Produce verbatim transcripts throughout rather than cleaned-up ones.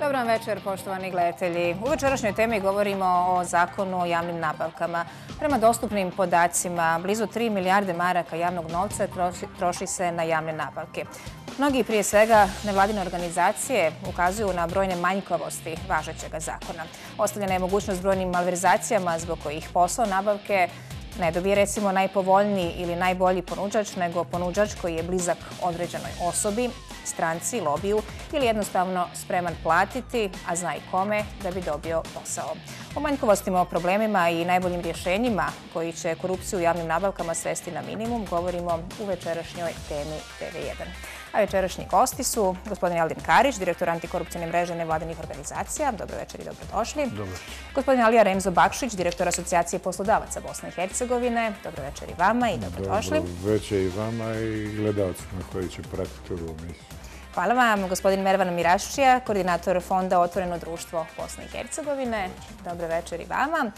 Dobar vam večer, poštovani gledatelji. U večerašnjoj temi govorimo o zakonu o javnim nabavkama. Prema dostupnim podacima, blizu tri milijarde maraka javnog novca troši se na javne nabavke. Mnogi, prije svega nevladine organizacije, ukazuju na brojne manjkavosti važećeg zakona. Ostavljena je mogućnost brojnim malverzacijama zbog kojih posao nabavke ne dobije recimo najpovoljniji ili najbolji ponuđač, nego ponuđač koji je blizak određenoj osobi, stranci, lobiju ili jednostavno spreman platiti, a zna i kome, da bi dobio posao. O manjkovostima, o problemima i najboljim rješenjima koji će korupciju u javnim nabavkama svesti na minimum govorimo u večerašnjoj temi T V jedan. A večerašnji gosti su gospodin Aldin Karić, direktor antikorupcijne mreže nevladinih organizacija. Dobro večer i dobrodošli. Dobro. Gospodin Alija Remzo Bakšić, direktor Asocijacije poslodavaca Bosne i Hercegovine. Dobro večer i vama i dobrodošli. Dobro večer i vama i gledalcima koji će pratiti ovu emisiju. Hvala vam. Gospodin Mervan Miraščija, koordinator Fonda Otvoreno društvo Bosne i Hercegovine. Dobro večer i vama.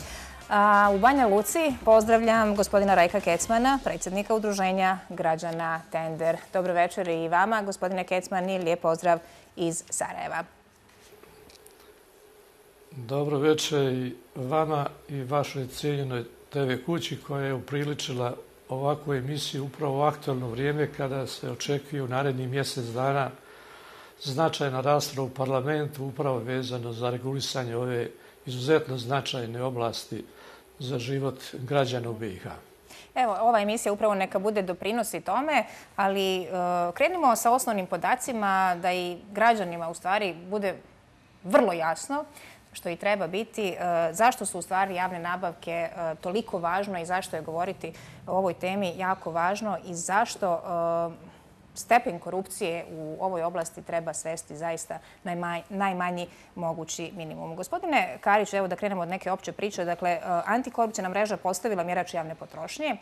U Banja Luci pozdravljam gospodina Rajka Kecmana, predsjednika Udruženja građana Tender. Dobro večer i vama, gospodine Kecman, i lijep pozdrav iz Sarajeva. Dobro večer i vama i vašoj cijenjenoj T V kući koja je upriličila ovakvu emisiju upravo u aktualno vrijeme kada se očekuje u narednih mjesec dana značajna rasprava u parlamentu upravo vezano za regulisanje ove izuzetno značajne oblasti za život građana u B i H. Evo, ova emisija upravo neka bude doprinosi tome, ali e, krenimo sa osnovnim podacima da i građanima u stvari bude vrlo jasno, što i treba biti, e, zašto su u stvari javne nabavke e, toliko važno i zašto je govoriti o ovoj temi jako važno i zašto e, stepen korupcije u ovoj oblasti treba svesti zaista najmanji mogući minimum. Gospodine Karić, evo da krenemo od neke opće priče. Dakle, antikorupcijna mreža postavila mjerač javne potrošnje.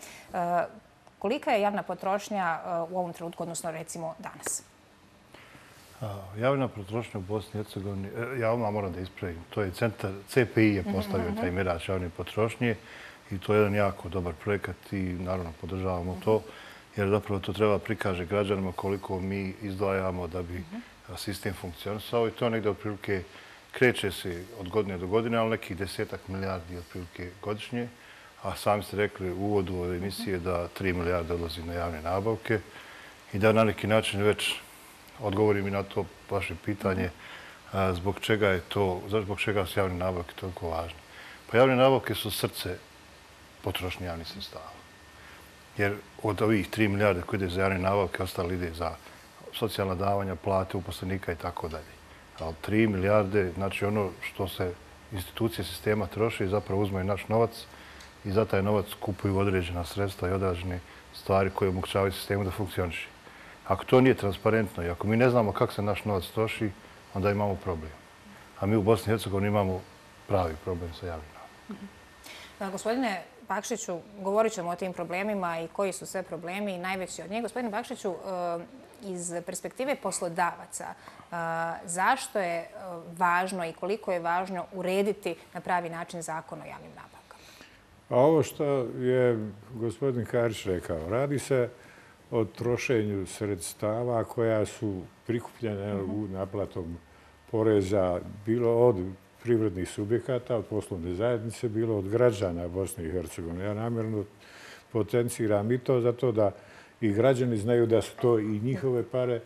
Kolika je javna potrošnja u ovom trenutku, odnosno recimo danas? Javna potrošnja u Bosni i Hercegovini, ja odmah moram da ispravim, to je centar, C P I je postavio taj mjerač javne potrošnje i to je jedan jako dobar projekat i naravno podržavamo to. Jer zapravo to treba prikaže građanima koliko mi izdvajamo da bi sistem funkcionisao i to negdje otprilike kreće se od godine do godine, ali nekih desetak milijardi otprilike godišnje. A sami ste rekli u uvodu ove emisije da tri milijarde odlazi na javne nabavke i da na neki način već odgovorim i na to vaše pitanje zbog čega je to, zbog čega su javne nabavke toliko važne. Pa javne nabavke su srce potrošnje javnih sredstava. Jer od ovih tri milijarde koje ide za javne nabavke, ostalo ide za socijalna davanja, plate uposlenika i tako dalje. Ali tri milijarde, znači ono što se institucije sistema troše, zapravo uzmaju naš novac i za taj novac kupuju određena sredstva i određene stvari koje omogućavaju sistemu da funkcioniše. Ako to nije transparentno i ako mi ne znamo kako se naš novac troši, onda imamo problem. A mi u Bosni i Hercegovini imamo pravi problem sa javnim nabavkama. Gospodine Bakšiću, govorit ćemo o tim problemima i koji su sve problemi i najveći od njih. Gospodine Bakšiću, iz perspektive poslodavaca, zašto je važno i koliko je važno urediti na pravi način zakon o javnim nabavkama? A ovo što je gospodin Karić rekao, radi se o trošenju sredstava koja su prikupljene u naplatom poreza, bilo od privrednih subjekata, od poslovne zajednice, bilo od građana Bosne i Hercegovine. Ja namjerno potenciram i to zato da i građani znaju da su to i njihove pare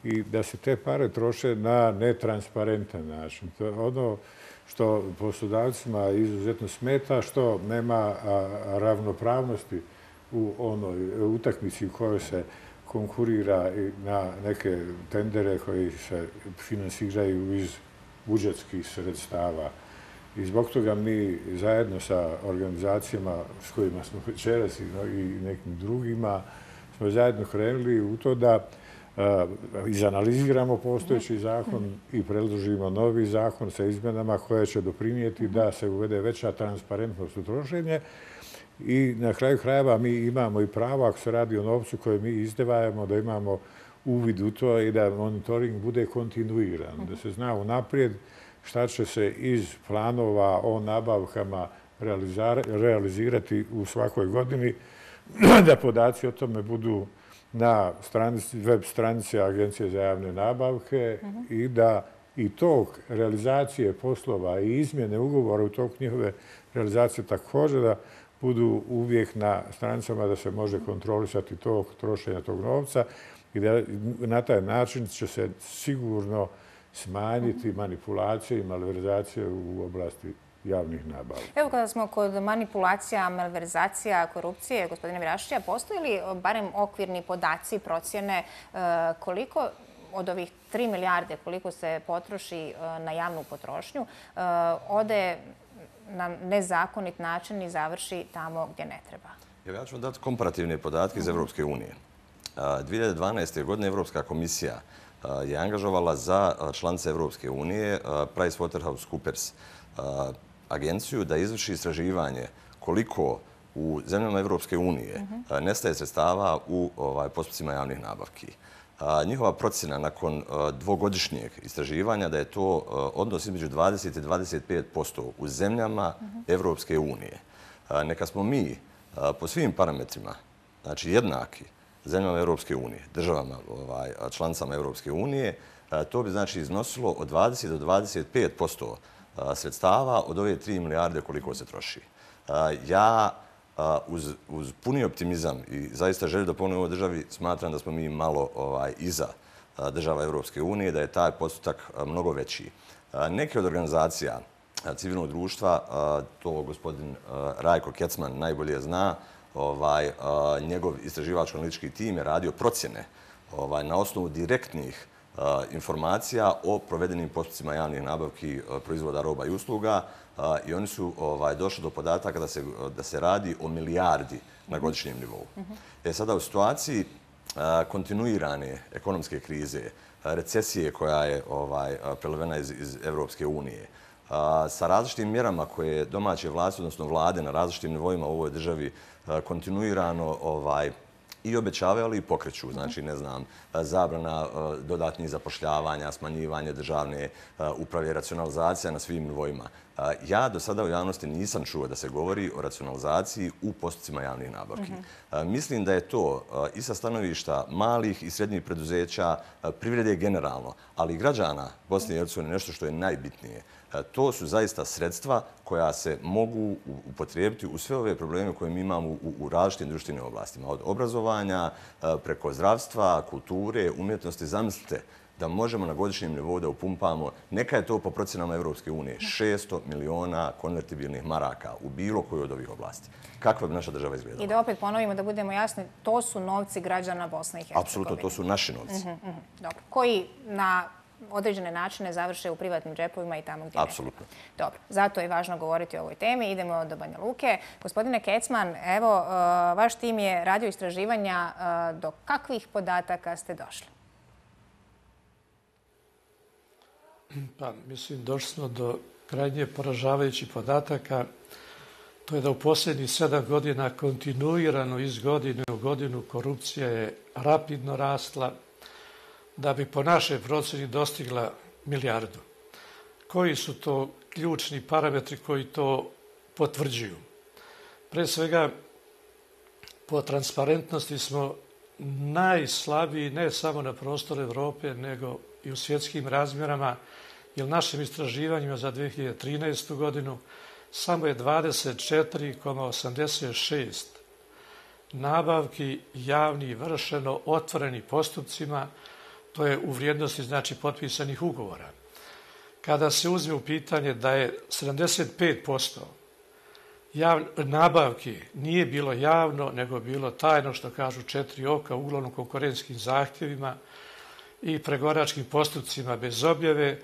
i da se te pare troše na netransparentan način. To je ono što poslodavcima izuzetno smeta, što nema ravnopravnosti u onoj utakmici u kojoj se konkurira na neke tendere koji se finansiraju iz budžetskih sredstava. I zbog toga mi zajedno sa organizacijama s kojima smo večeras i nekim drugima smo zajedno krenuli u to da izanaliziramo postojeći zakon i predložimo novi zakon sa izmjenama koje će doprinijeti da se uvede veća transparentnost u trošenje. I na kraju krajeva mi imamo i pravo, ako se radi o novcu koje mi izdvajamo, da imamo uvid u to i da monitoring bude kontinuiran, da se zna unaprijed šta će se iz planova o nabavkama realizirati u svakoj godini, da podaci o tome budu na web stranici Agencije za javne nabavke i da i tok realizacije poslova i izmjene ugovora u toku njihove realizacije također da budu uvijek na stranicama da se može kontrolisati tok trošenja tog novca i da na taj način će se sigurno smanjiti manipulacije i malverzacije u oblasti javnih nabava. Evo kada smo kod manipulacija, malverzacija, korupcije, gospodine Virašića, postoji li barem okvirni podaci, procjene koliko od ovih tri milijarde koliko se potroši na javnu potrošnju ode na nezakonit način i završi tamo gdje ne treba? Ja ću vam dati komparativne podatke iz Evropske unije. dvije hiljade dvanaeste. godine Evropska komisija je angažovala za članice Evropske unije PricewaterhouseCoopers agenciju da izvrši istraživanje koliko u zemljama Evropske unije nestaje sredstava u postupcima javnih nabavki. Njihova procjena nakon dvogodišnjeg istraživanja da je to odnos između dvadeset i dvadeset pet posto u zemljama Evropske unije. Neka smo mi po svim parametrima, znači jednaki zemljama Evropske unije, državama, članicama Evropske unije, to bi znači iznosilo od dvadeset do dvadeset pet posto sredstava od ove tri milijarde koliko se troši. Ja uz puni optimizam i zaista želju da pomognemo državi smatram da smo mi malo iza država Evropske unije, da je taj postotak mnogo veći. Neke od organizacija civilnog društva, to gospodin Rajko Kecman najbolje zna, njegov istraživačko-analitički tim je radio procjene na osnovu direktnih informacija o provedenim postupcima javnih nabavki proizvoda, roba i usluga i oni su došli do podataka da se radi o milijardi na godišnjem nivou. E sada u situaciji kontinuirane ekonomske krize, recesije koja je prelivena iz Evropske unije, sa različitim mjerama koje domaće vlasti, odnosno vlade na različitim nivoima u ovoj državi kontinuirano i obećavaju, ali i pokreću. Znači, ne znam, zabrana dodatnih zapošljavanja, smanjivanje državne uprave, racionalizacija na svim nivoima. Ja do sada u javnosti nisam čuo da se govori o racionalizaciji u postupcima javnih nabavki. Mislim da je to i sa stanovišta malih i srednjih preduzeća, privrede generalno, ali i građana Bosne i Hercegovine nešto što je najbitnije. To su zaista sredstva koja se mogu upotrijebiti u sve ove probleme koje mi imamo u različitim društvenim oblastima. Od obrazovanja, preko zdravstva, kulture, umjetnosti. Zamislite da možemo na godišnjem nivou da upumpamo, neka je to po procjenama Evropske unije, šesto miliona konvertibilnih maraka u bilo koju od ovih oblasti. Kakva bi naša država izgledala? I da opet ponovimo, da budemo jasni, to su novci građana Bosne i Hercegovine. Apsolutno, to su naši novci. Dobro. Koji na određene načine završe u privatnim džepovima i tamo gdje ne. Apsolutno. Dobro, zato je važno govoriti o ovoj temi. Idemo do Banja Luke. Gospodine Kecman, evo, vaš tim je radio istraživanja. Do kakvih podataka ste došli? Pa, mislim, došli smo do krajnje poražavajućih podataka. To je da u posljednjih sedam godina kontinuirano iz godine u godinu korupcija je rapidno rasla, da bi po našoj procjeni dostigla milijardu. Koji su to ključni parametri koji to potvrđuju? Pre svega, po transparentnosti smo najslabiji ne samo na prostoru Evrope, nego i u svjetskim razmjerama, jer našim istraživanjima za dvije hiljade trinaestu. godinu samo je dvadeset četiri zarez osamdeset šest nabavki javnih vršeno otvorenim postupcima, to je u vrijednosti znači potpisanih ugovora. Kada se uzme u pitanje da je sedamdeset pet posto nabavki nije bilo javno, nego bilo tajno, što kažu četiri oka, uglavnom konkurentskim zahtjevima i pregovaračkim postupcima bez objave,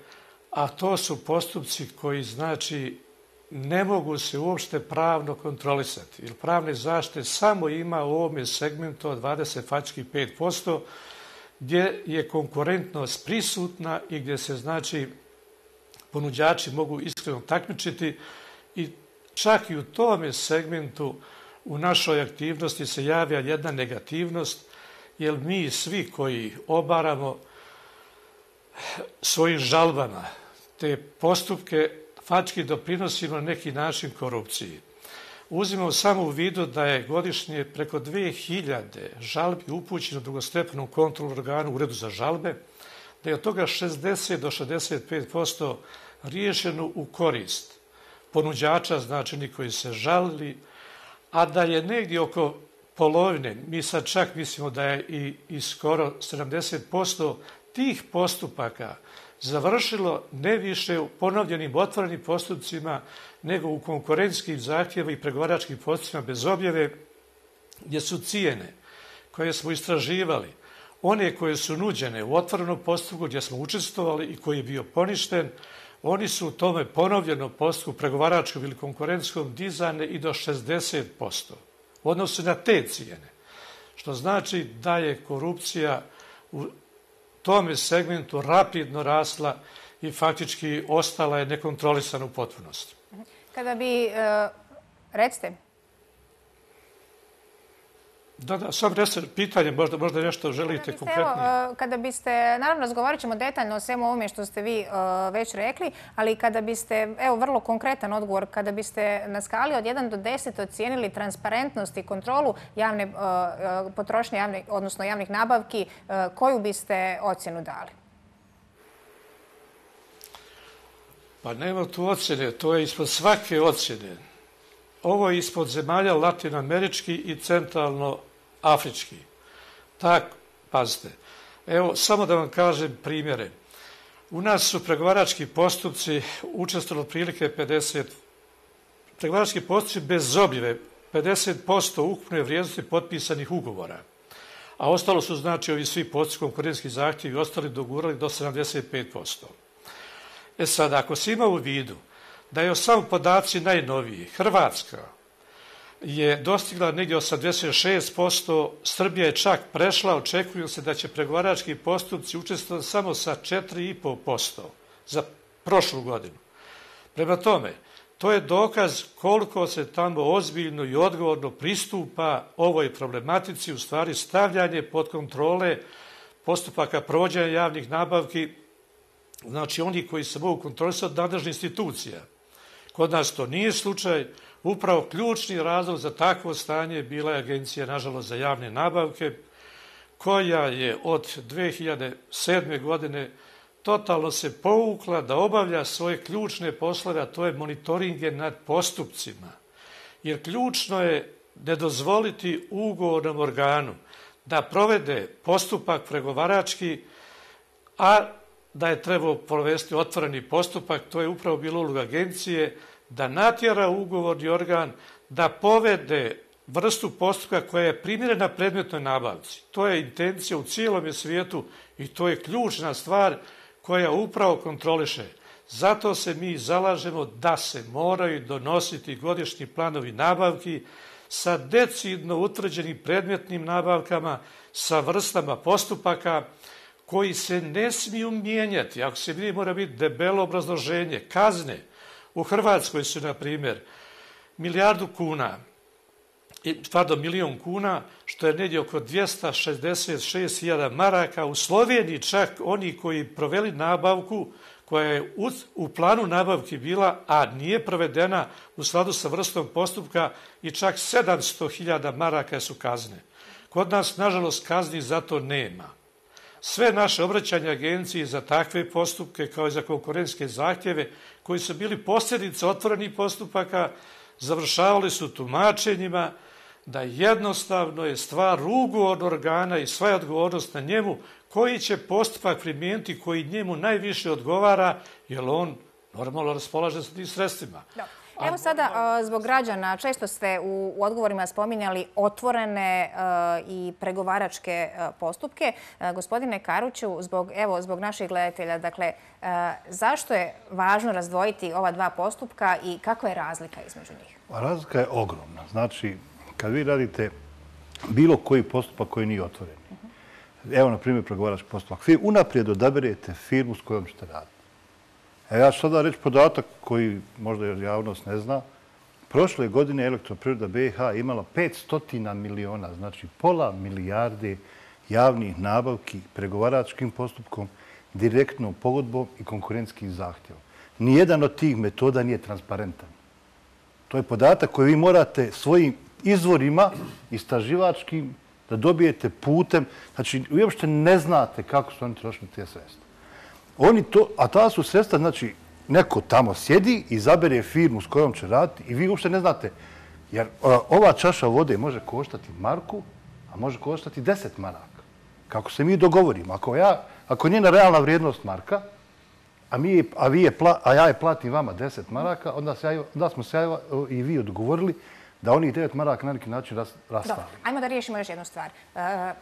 a to su postupci koji znači ne mogu se uopšte pravno kontrolisati. Jer pravne zaštite samo ima u ovome segmentu od dvadeset pet posto gdje je konkurentnost prisutna i gdje se znači ponuđači mogu iskreno takmičiti i čak i u tome segmentu u našoj aktivnosti se javlja jedna negativnost, jer mi svi koji obaramo svojim žalbama te postupke faktički doprinosimo na neki način korupciji. Uzimamo samo u vidu da je godišnje preko dvije hiljade žalbi upućeno drugostepenom kontrolnom organu Uredu za žalbe, da je od toga šezdeset do šezdeset pet posto riješeno u korist ponuđača, znači oni koji se žalili, a da je negdje oko polovine, mi sad čak mislimo da je i, i skoro sedamdeset posto tih postupaka završilo ne više u ponovljenim otvorenim postupcima nego u konkurentskim zahtjevima i pregovaračkim postupcima bez objave, gdje su cijene koje smo istraživali, one koje su nuđene u otvorenom postupku gdje smo učestvovali i koji je bio poništen, oni su u tome ponovljenom postupku pregovaračkom ili konkurentskom dizane i do šezdeset posto u odnosu na te cijene. Što znači da je korupcija u tome segmentu rapidno rasla i faktički ostala je nekontrolisana u potpunosti. Kada bi, recite. Da, da, sam resor pitanje, možda, možda nešto želite konkretnije. Kada biste, naravno razgovarat ćemo detaljno o svemu ovome što ste vi već rekli, ali kada biste, evo vrlo konkretan odgovor, kada biste na skali od jedan do deset ocijenili transparentnost i kontrolu javne potrošnje, javne, odnosno javnih nabavki, koju biste ocjenu dali? Pa nema tu ocjene, to je ispod svake ocjene. Ovo je ispod zemalja latinoamerički i centralno-afrički. Tak, pazite. Evo, samo da vam kažem primjere. U nas su pregovarački postupci učestvovali otprilike pedeset, pregovarački postupci bez objave, pedeset posto ukupne vrijednosti potpisanih ugovora. A ostalo su, znači, ovi svi postupci, konkurentski zahtjevi i ostali dogurali do sedamdeset pet posto. E sad, ako se ima u vidu da je samo podaci najnoviji, Hrvatska je dostigla negdje osamdeset šest posto, Srbija je čak prešla, očekuju se da će pregovarački postupci učestvovati samo sa četiri i pet posto za prošlu godinu. Prema tome, to je dokaz koliko se tamo ozbiljno i odgovorno pristupa ovoj problematici, u stvari stavljanje pod kontrole postupaka provođenja javnih nabavki, znači oni koji se mogu kontrolisati od nadležnih institucija. Kod nas to nije slučaj. Upravo ključni razlog za takvo stanje bila je Agencija, nažalost, za javne nabavke, koja je od dve hiljade sedme. godine totalno se povukla da obavlja svoje ključne poslove, a to je monitoringe nad postupcima. Jer ključno je ne dozvoliti ugovornom organu da provede postupak pregovarački, a da je trebao provesti otvoreni postupak, to je upravo bila uloga agencije, da natjera ugovorni organ da povede vrstu postupka koja je primjerena predmetnoj nabavci. To je intencija u cijelom svijetu i to je ključna stvar koja upravo kontroliše. Zato se mi zalažemo da se moraju donositi godišnji planovi nabavki sa decidno utvrđenim predmetnim nabavkama, sa vrstama postupaka koji se ne smiju mijenjati. Ako se vidi, mora biti debelo obrazloženje. Kazne u Hrvatskoj su, na primjer, milijardu kuna, pardon, milijon kuna, što je negdje oko dvjesto šezdeset šest hiljada maraka. U Sloveniji čak oni koji proveli nabavku, koja je u, u planu nabavki bila, a nije provedena u skladu sa vrstom postupka, i čak sedamsto hiljada maraka su kazne. Kod nas, nažalost, kazni za to nema. Sve naše obraćanje agenciji za takve postupke, kao i za konkurentske zahtjeve, koji su bili posljedice otvorenih postupaka, završavali su tumačenjima da jednostavno je stvar ugovornog organa i sva je odgovornost na njemu koji će postupak primijeniti koji njemu najviše odgovara, jer on normalno raspolaže sa tim sredstvima. Da. Evo sada, zbog građana, često ste u odgovorima spominjali otvorene i pregovaračke postupke. Gospodine Karuću, zbog, evo, zbog naših gledatelja, dakle, zašto je važno razdvojiti ova dva postupka i kakva je razlika između njih? Razlika je ogromna. Znači, kad vi radite bilo koji postupak koji nije otvoren, evo, na primjer, pregovarački postupak, vi unaprijed odaberete firmu s kojom ćete raditi. E, ja ću sada reći podatak koji možda javnost ne zna. Prošle godine Elektroprivreda B i H imala petsto miliona, znači pola milijarde javnih nabavki pregovaračkim postupkom, direktnom pogodbom i konkurentskim zahtjevom. Nijedan od tih metoda nije transparentan. To je podatak koji vi morate svojim izvorima istraživačkim da dobijete putem. Znači, vi uopšte ne znate kako su oni trošili te sredstva. Oni to, a ta su sredstva, znači, neko tamo sjedi, izabere firmu s kojom će raditi i vi uopšte ne znate. Jer ova čaša vode može koštati marku, a može koštati deset maraka. Kako se mi dogovorimo. Ako, ja, ako njena realna vrijednost marka, a, mi, a, vi je, a ja je platim vama deset maraka, onda, se ja, onda smo se ja i vi odgovorili da onih devet maraka na neki način rastavili. Dobro, ajmo da riješimo još jednu stvar. E,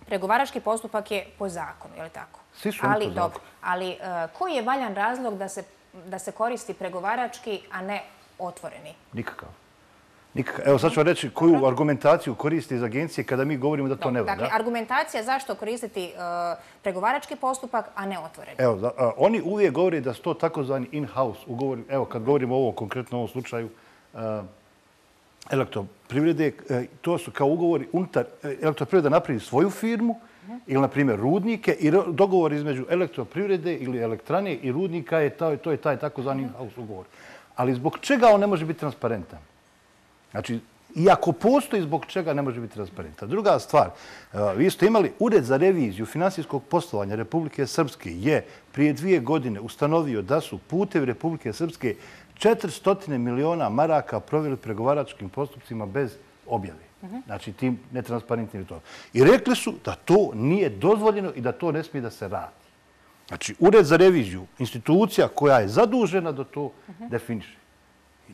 pregovarački postupak je po zakonu, je li tako? Svi su oni ali, po zakonu. Dobro, ali e, koji je valjan razlog da se, da se koristi pregovarački, a ne otvoreni? Nikakav. Nikakav. Evo sad ću vam reći koju dobro. Argumentaciju koristi iz agencije kada mi govorimo da to dobro, ne valja. Dakle, argumentacija zašto koristiti e, pregovarački postupak, a ne otvoreni? Evo, da, a, oni uvijek govore da su to takozvani in-house ugovori. Evo, kad govorimo o ovom konkretno ovom slučaju, a, elektroprivrede, to su kao ugovori unutar elektroprivreda napravi svoju firmu ili, na primjer, rudnike i dogovor između elektroprivrede ili elektrane i rudnika je to, to je taj takozvani in-house ugovor. Ali zbog čega on ne može biti transparentan? Znači, iako postoji zbog čega ne može biti transparentan. Druga stvar, vi ste imali Ured za reviziju finansijskog poslovanja Republike Srpske je prije dvije godine ustanovio da su putevi Republike Srpske četiristo miliona maraka proveli pregovaračkim postupcima bez objave. Znači, tim netransparentnim to. I rekli su da to nije dozvoljeno i da to ne smije da se radi. Znači, Ured za reviziju, institucija koja je zadužena da to definiše.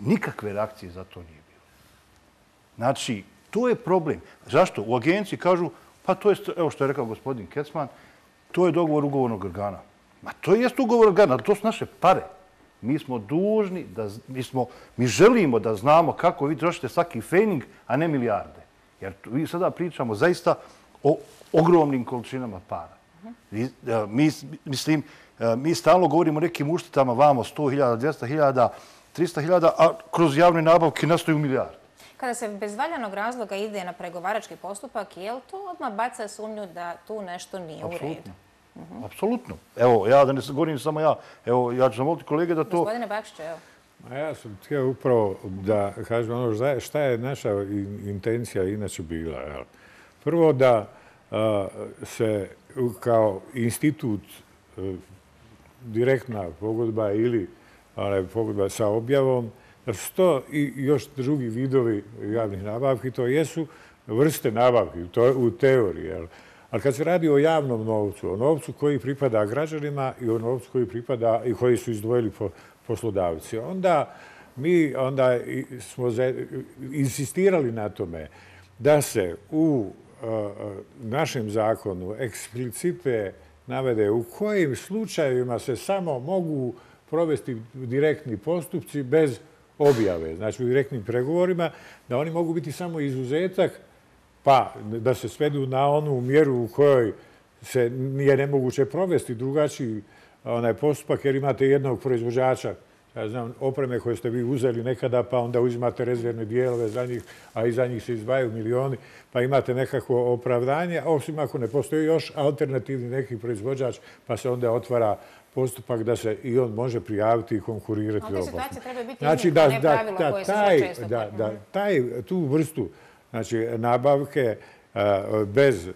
Nikakve reakcije za to nije bilo. Znači, to je problem. Zašto? U agenciji kažu, pa to je, evo što je rekao gospodin Kecman, to je dogovor ugovornog organa. Ma to je ugovor organa, ali to su naše pare. Mi smo dužni, da, mi, smo, mi želimo da znamo kako vi trošite svaki fejning, a ne milijarde. Jer mi sada pričamo zaista o ogromnim količinama para. Mi, mi, mislim, mi stalno govorimo o nekim uštetama vamo sto hiljada, dvjesto hiljada, tristo hiljada, a kroz javne nabavke nastaju milijarde. Kada se bez valjanog razloga ide na pregovarački postupak, je li to odmah baca sumnju da tu nešto nije Absolutno. u redu? Uh-huh. Apsolutno. Evo, ja da ne govorim samo ja, evo, ja ću zamoliti kolege da to... Gospodine Bakšiću, evo. A ja sam htio upravo da kažem ono šta je naša intencija inače bila. Jel? Prvo da a, se kao institut a, direktna pogodba ili ali, pogodba sa objavom, da su to i još drugi vidovi javnih nabavki, to jesu vrste nabavki, to je u teoriji. Jel? Ali kad se radi o javnom novcu, o novcu koji pripada građanima i o novcu koji pripada i koji su izdvojili poslodavci, onda mi onda smo insistirali na tome da se u našem zakonu eksplicite navede u kojim slučajevima se samo mogu provesti direktni postupci bez objave, znači u direktnim pregovorima, da oni mogu biti samo izuzetak, pa da se svedu na onu mjeru u kojoj se nije nemoguće provesti drugačiji onaj postupak, jer imate jednog proizvođača, ja znam, opreme koje ste vi uzeli nekada, pa onda uzimate rezervne dijelove za njih, a iza njih se izdvajaju milioni, pa imate nekako opravdanje, osim ako ne postoji još alternativni neki proizvođač, pa se onda otvara postupak da se i on može prijaviti i konkurirati. Ali te situacije trebaju biti znači, iznimka, ne pravilo koje se sve često... Da, da, taj, tu vrstu znači, nabavke bez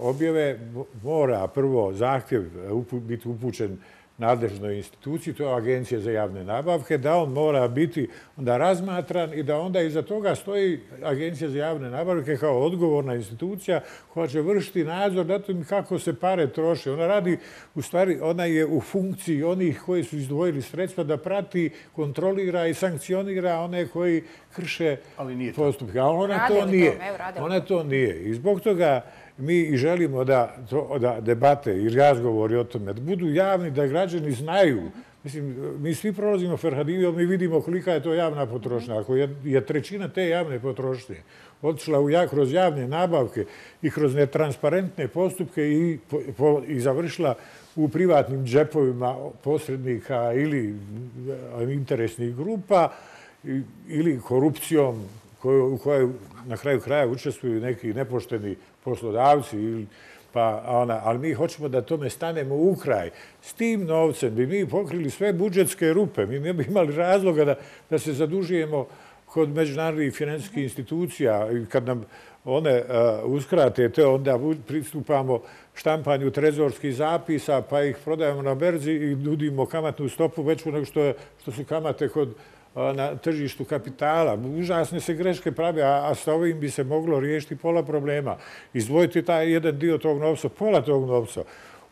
objave mora prvo zahtjev biti upućen nadležnoj instituciji, to je Agencija za javne nabavke, da on mora biti onda razmatran i da onda iza toga stoji Agencija za javne nabavke kao odgovorna institucija koja će vršiti nadzor na tom kako se pare troše. Ona radi, u stvari, ona je u funkciji onih koji su izdvojili sredstva da prati, kontrolira i sankcionira one koji krše postupke. A ona to nije. Ona to nije. I zbog toga mi i želimo da, to, da debate i razgovori o tome da budu javni, da građani znaju. Mislim, mi svi prolazimo Ferhadijom, mi vidimo kolika je to javna potrošnja. Ako je, je trećina te javne potrošnje otišla u, kroz javne nabavke i kroz netransparentne postupke i, po, po, i završila u privatnim džepovima posrednika ili interesnih grupa ili korupcijom koju, u kojoj na kraju kraja učestvuju neki nepošteni poslodavci, pa, ona, ali mi hoćemo da tome stanemo u kraj. S tim novcem bi mi pokrili sve budžetske rupe. Mi ne bi imali razloga da, da se zadužujemo kod međunarodnih financijskih institucija i kad nam one uskrate te, onda pristupamo štampanju trezorskih zapisa, pa ih prodajemo na berzi i nudimo kamatnu stopu veću nego što, je, što su kamate kod na tržištu kapitala. Užasne se greške prave, a, a sa ovim bi se moglo riješiti pola problema. Izdvojiti taj jedan dio tog novca, pola tog novca,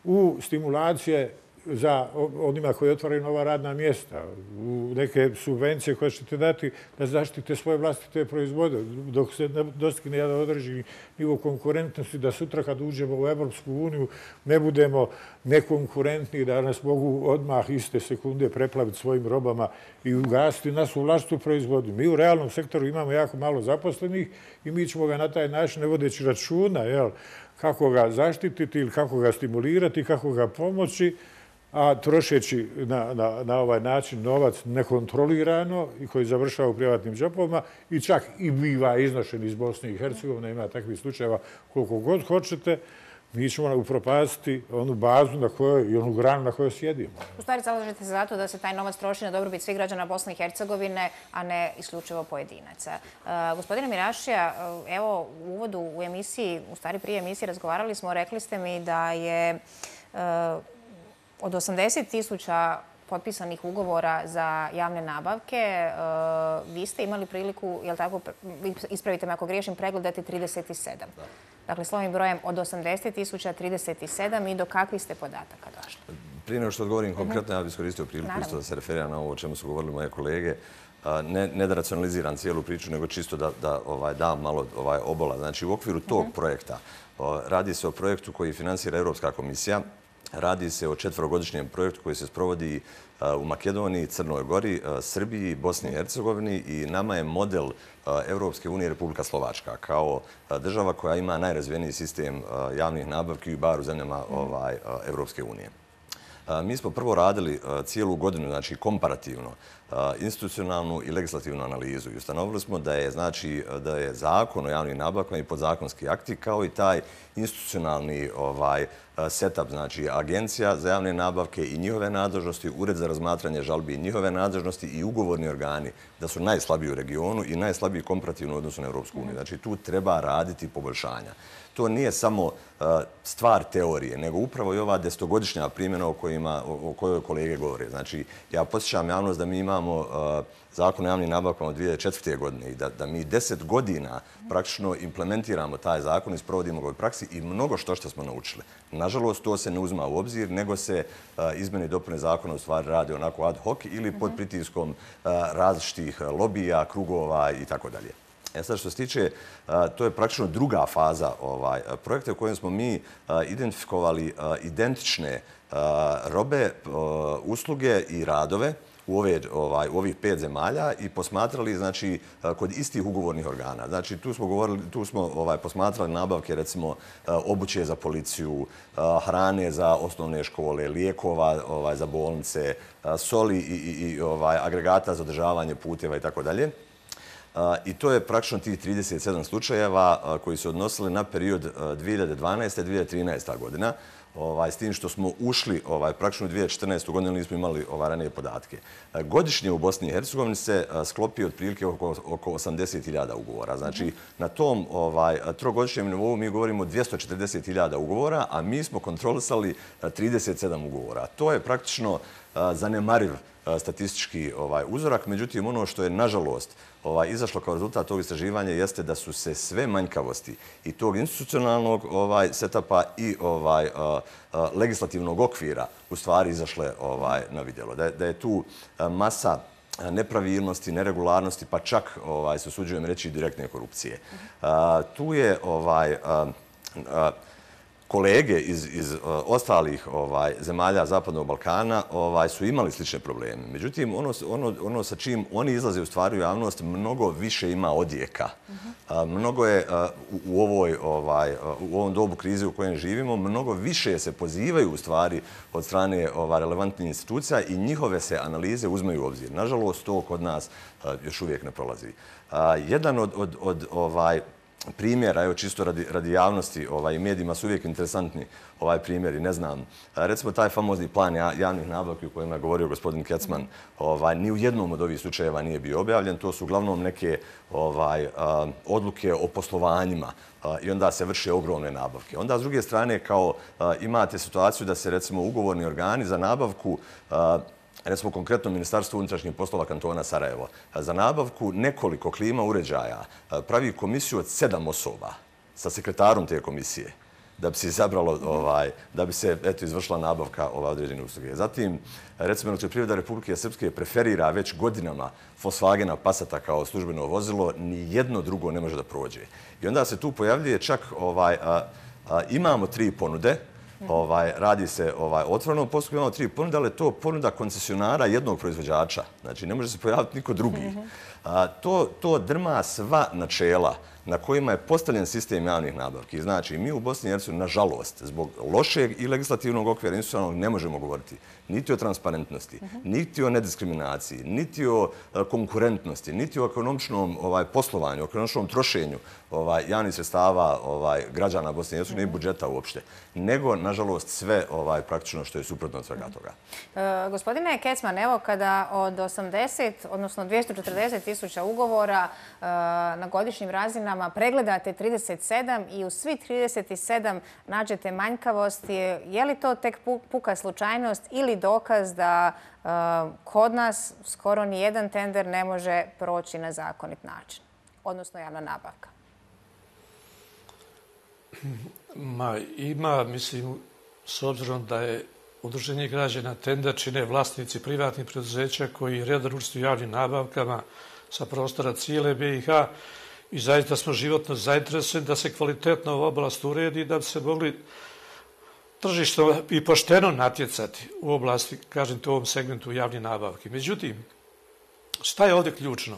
u stimulacije za onima koji otvaraju nova radna mjesta, u neke subvencije koje ćete dati da zaštite svoje vlastite proizvode, dok se dostigne jedan određeni nivo konkurentnosti, da sutra kad uđemo u Evropsku uniju ne budemo nekonkurentni, da nas mogu odmah iste sekunde preplaviti svojim robama i ugasiti nas u vlastitu proizvodnju. Mi u realnom sektoru imamo jako malo zaposlenih i mi ćemo ga na taj način, ne vodeći računa, jel, kako ga zaštititi ili kako ga stimulirati, kako ga pomoći, a trošeći na, na, na ovaj način novac nekontrolirano i koji završava u privatnim džepovima i čak i biva iznošen iz Bosne i Hercegovine, ima takvih slučajeva koliko god hoćete, mi ćemo upropastiti onu bazu na kojoj i onu granu na kojoj sjedimo. U stvari zalažete se zato da se taj novac troši na dobrobit svih građana Bosne i Hercegovine, a ne isključivo pojedinaca. Uh, gospodine Mirašija, uh, evo u uvodu u emisiji, u stvari prije emisije razgovarali smo, rekli ste mi da je uh, od osamdeset tisuća potpisanih ugovora za javne nabavke, vi ste imali priliku, jel tako, ispravite me ako griješim, pregledati trideset sedam. Dakle, slovim brojem od osamdeset tisuća trideset sedam i do kakvih ste podataka došli? Prije nego što odgovorim konkretno, ja bih iskoristio priliku isto da se referiram na ovo o čemu su govorili moje kolege. Ne, ne da racionaliziram cijelu priču, nego čisto da, da ovaj, dam malo ovaj, obola. Znači, u okviru tog projekta radi se o projektu koji finansira Europska komisija. Radi se o četverogodišnjem projektu koji se sprovodi u Makedoniji, Crnoj Gori, Srbiji, Bosni i Hercegovini i nama je model Evropske unije Republika Slovačka kao država koja ima najrazvijeniji sistem javnih nabavki bar u zemljama ovaj, Evropske unije. Mi smo prvo radili cijelu godinu, znači komparativno, institucionalnu i legislativnu analizu i ustanovili smo da je, znači, da je zakon o javnim nabavkama i podzakonski akti kao i taj institucionalni ovaj, setup, znači agencija za javne nabavke i njihove nadležnosti, ured za razmatranje žalbi i njihove nadležnosti i ugovorni organi da su najslabiji u regionu i najslabiji komparativno u odnosu na Evropsku uniju. Znači tu treba raditi poboljšanja. To nije samo stvar teorije, nego upravo i ova desetogodišnja primjena o, kojima, o kojoj kolege govore. Znači, ja podsjećam javnost da mi imamo zakon o javnim nabavkama od dvije hiljade četvrte. godine i da, da mi deset godina praktično implementiramo taj zakon i sprovodimo ga u praksi i mnogo što što smo naučili. Nažalost, to se ne uzma u obzir, nego se izmjene i dopune zakona u stvari radi onako ad hoc ili pod pritiskom različitih lobija, krugova i tako dalje. E sad što se tiče, to je praktično druga faza ovaj, projekta u kojem smo mi identifikovali identične robe, usluge i radove u, ove, ovaj, u ovih pet zemalja i posmatrali, znači, kod istih ugovornih organa. Znači, tu smo, govorili, tu smo ovaj, posmatrali nabavke, recimo, obuće za policiju, hrane za osnovne škole, lijekova ovaj, za bolnice, soli i, i, i ovaj, agregata za održavanje puteva i tako dalje. I to je praktično tih trideset sedam slučajeva koji su odnosili na period dvije hiljade dvanaeste. do dvije hiljade trinaeste. godina. Ovaj, s tim što smo ušli ovaj, praktično u dvije hiljade četrnaestu. godinu, nismo imali ovaj, ranije podatke. Godišnje u Bosni i Hercegovini se sklopi otprilike oko, oko osamdeset hiljada ugovora. Znači, na tom ovaj, trogodišnjem nivou mi govorimo o dvjesto četrdeset hiljada ugovora, a mi smo kontrolisali trideset sedam ugovora. To je praktično zanemariv statistički ovaj, uzorak. Međutim, ono što je, nažalost, ovaj, izašlo kao rezultat tog istraživanja jeste da su se sve manjkavosti i tog institucionalnog ovaj, setapa i ovaj, a, a, legislativnog okvira u stvari izašle ovaj, na vidjelo. Da, da je tu a, masa nepravilnosti, neregularnosti, pa čak, ovaj, se usuđujem reći, direktne korupcije. A, tu je ovaj, a, a, kolege iz, iz uh, ostalih ovaj, zemalja Zapadnog Balkana ovaj, su imali slične probleme. Međutim, ono, ono, ono sa čim oni izlaze u stvari u javnost mnogo više ima odjeka. Uh-huh. uh, mnogo je uh, u, ovoj, ovaj, uh, u ovom dobu krize u kojem živimo, mnogo više se pozivaju u stvari od strane ovaj, relevantnih institucija i njihove se analize uzmaju u obzir. Nažalost, to kod nas uh, još uvijek ne prolazi. Uh, jedan od, od, od ovaj, primjera, evo čisto radi, radi javnosti, ovaj, medijima su uvijek interesantni ovaj primjeri, ne znam. Recimo taj famozni plan javnih nabavki u kojima je govorio gospodin Kecman, ovaj, ni u jednom od ovih slučajeva nije bio objavljen. To su uglavnom neke ovaj, a, odluke o poslovanjima a, i onda se vrše ogromne nabavke. Onda s druge strane kao a, imate situaciju da se recimo ugovorni organi za nabavku a, recimo konkretno Ministarstvo unutrašnjih poslova kantona Sarajevo, za nabavku nekoliko klima uređaja pravi komisiju od sedam osoba sa sekretarom te komisije da bi se izabralo, ovaj, da bi se eto, izvršila nabavka ove određene usluge. Zatim, recimo, Elektroprivreda Republike Srpske preferira već godinama Volkswagena Passata kao službeno vozilo, ni jedno drugo ne može da prođe. I onda se tu pojavljuje čak, ovaj, a, a, imamo tri ponude, Ovaj, radi se ovaj, otvorenom postupku, imamo tri ponude, ali je to ponuda koncesionara jednog proizvođača. Znači, ne može se pojaviti niko drugi. A, to, to drma sva načela na kojima je postavljen sistem javnih nabavki. Znači, mi u Bosni i Hercegovini, nažalost, zbog lošeg i legislativnog okvira institucionalnog ne možemo govoriti niti o transparentnosti, niti o nediskriminaciji, niti o konkurentnosti, niti o ekonomičnom ovaj, poslovanju, o ekonomičnom trošenju ovaj, javnih sredstava ovaj, građana Bosne i Hercegovine i budžeta uopšte, nego, nažalost, sve ovaj, praktično što je suprotno od svega toga. E, gospodine Kecman, evo kada od osamdeset, odnosno dvjesto četrdeset tisuća ugovora e, na godišnjim razinama pregledate trideset sedam i u svi trideset sedam nađete manjkavosti, je li to tek puka slučajnost ili dokaz da uh, kod nas skoro ni jedan tender ne može proći na zakonit način, odnosno javna nabavka? Ma, ima, mislim, s obzirom da je Udruženje građana tender čine vlasnici privatnih preduzeća koji redovno učestvuju u javnim nabavkama sa prostora cijele B i H i zaista smo životno zainteresovani da se kvalitetno ova oblast uredi i da bi se mogli tržišno i pošteno natjecati u oblasti, kažem to u ovom segmentu javnih nabavki. Međutim, šta je ovdje ključno?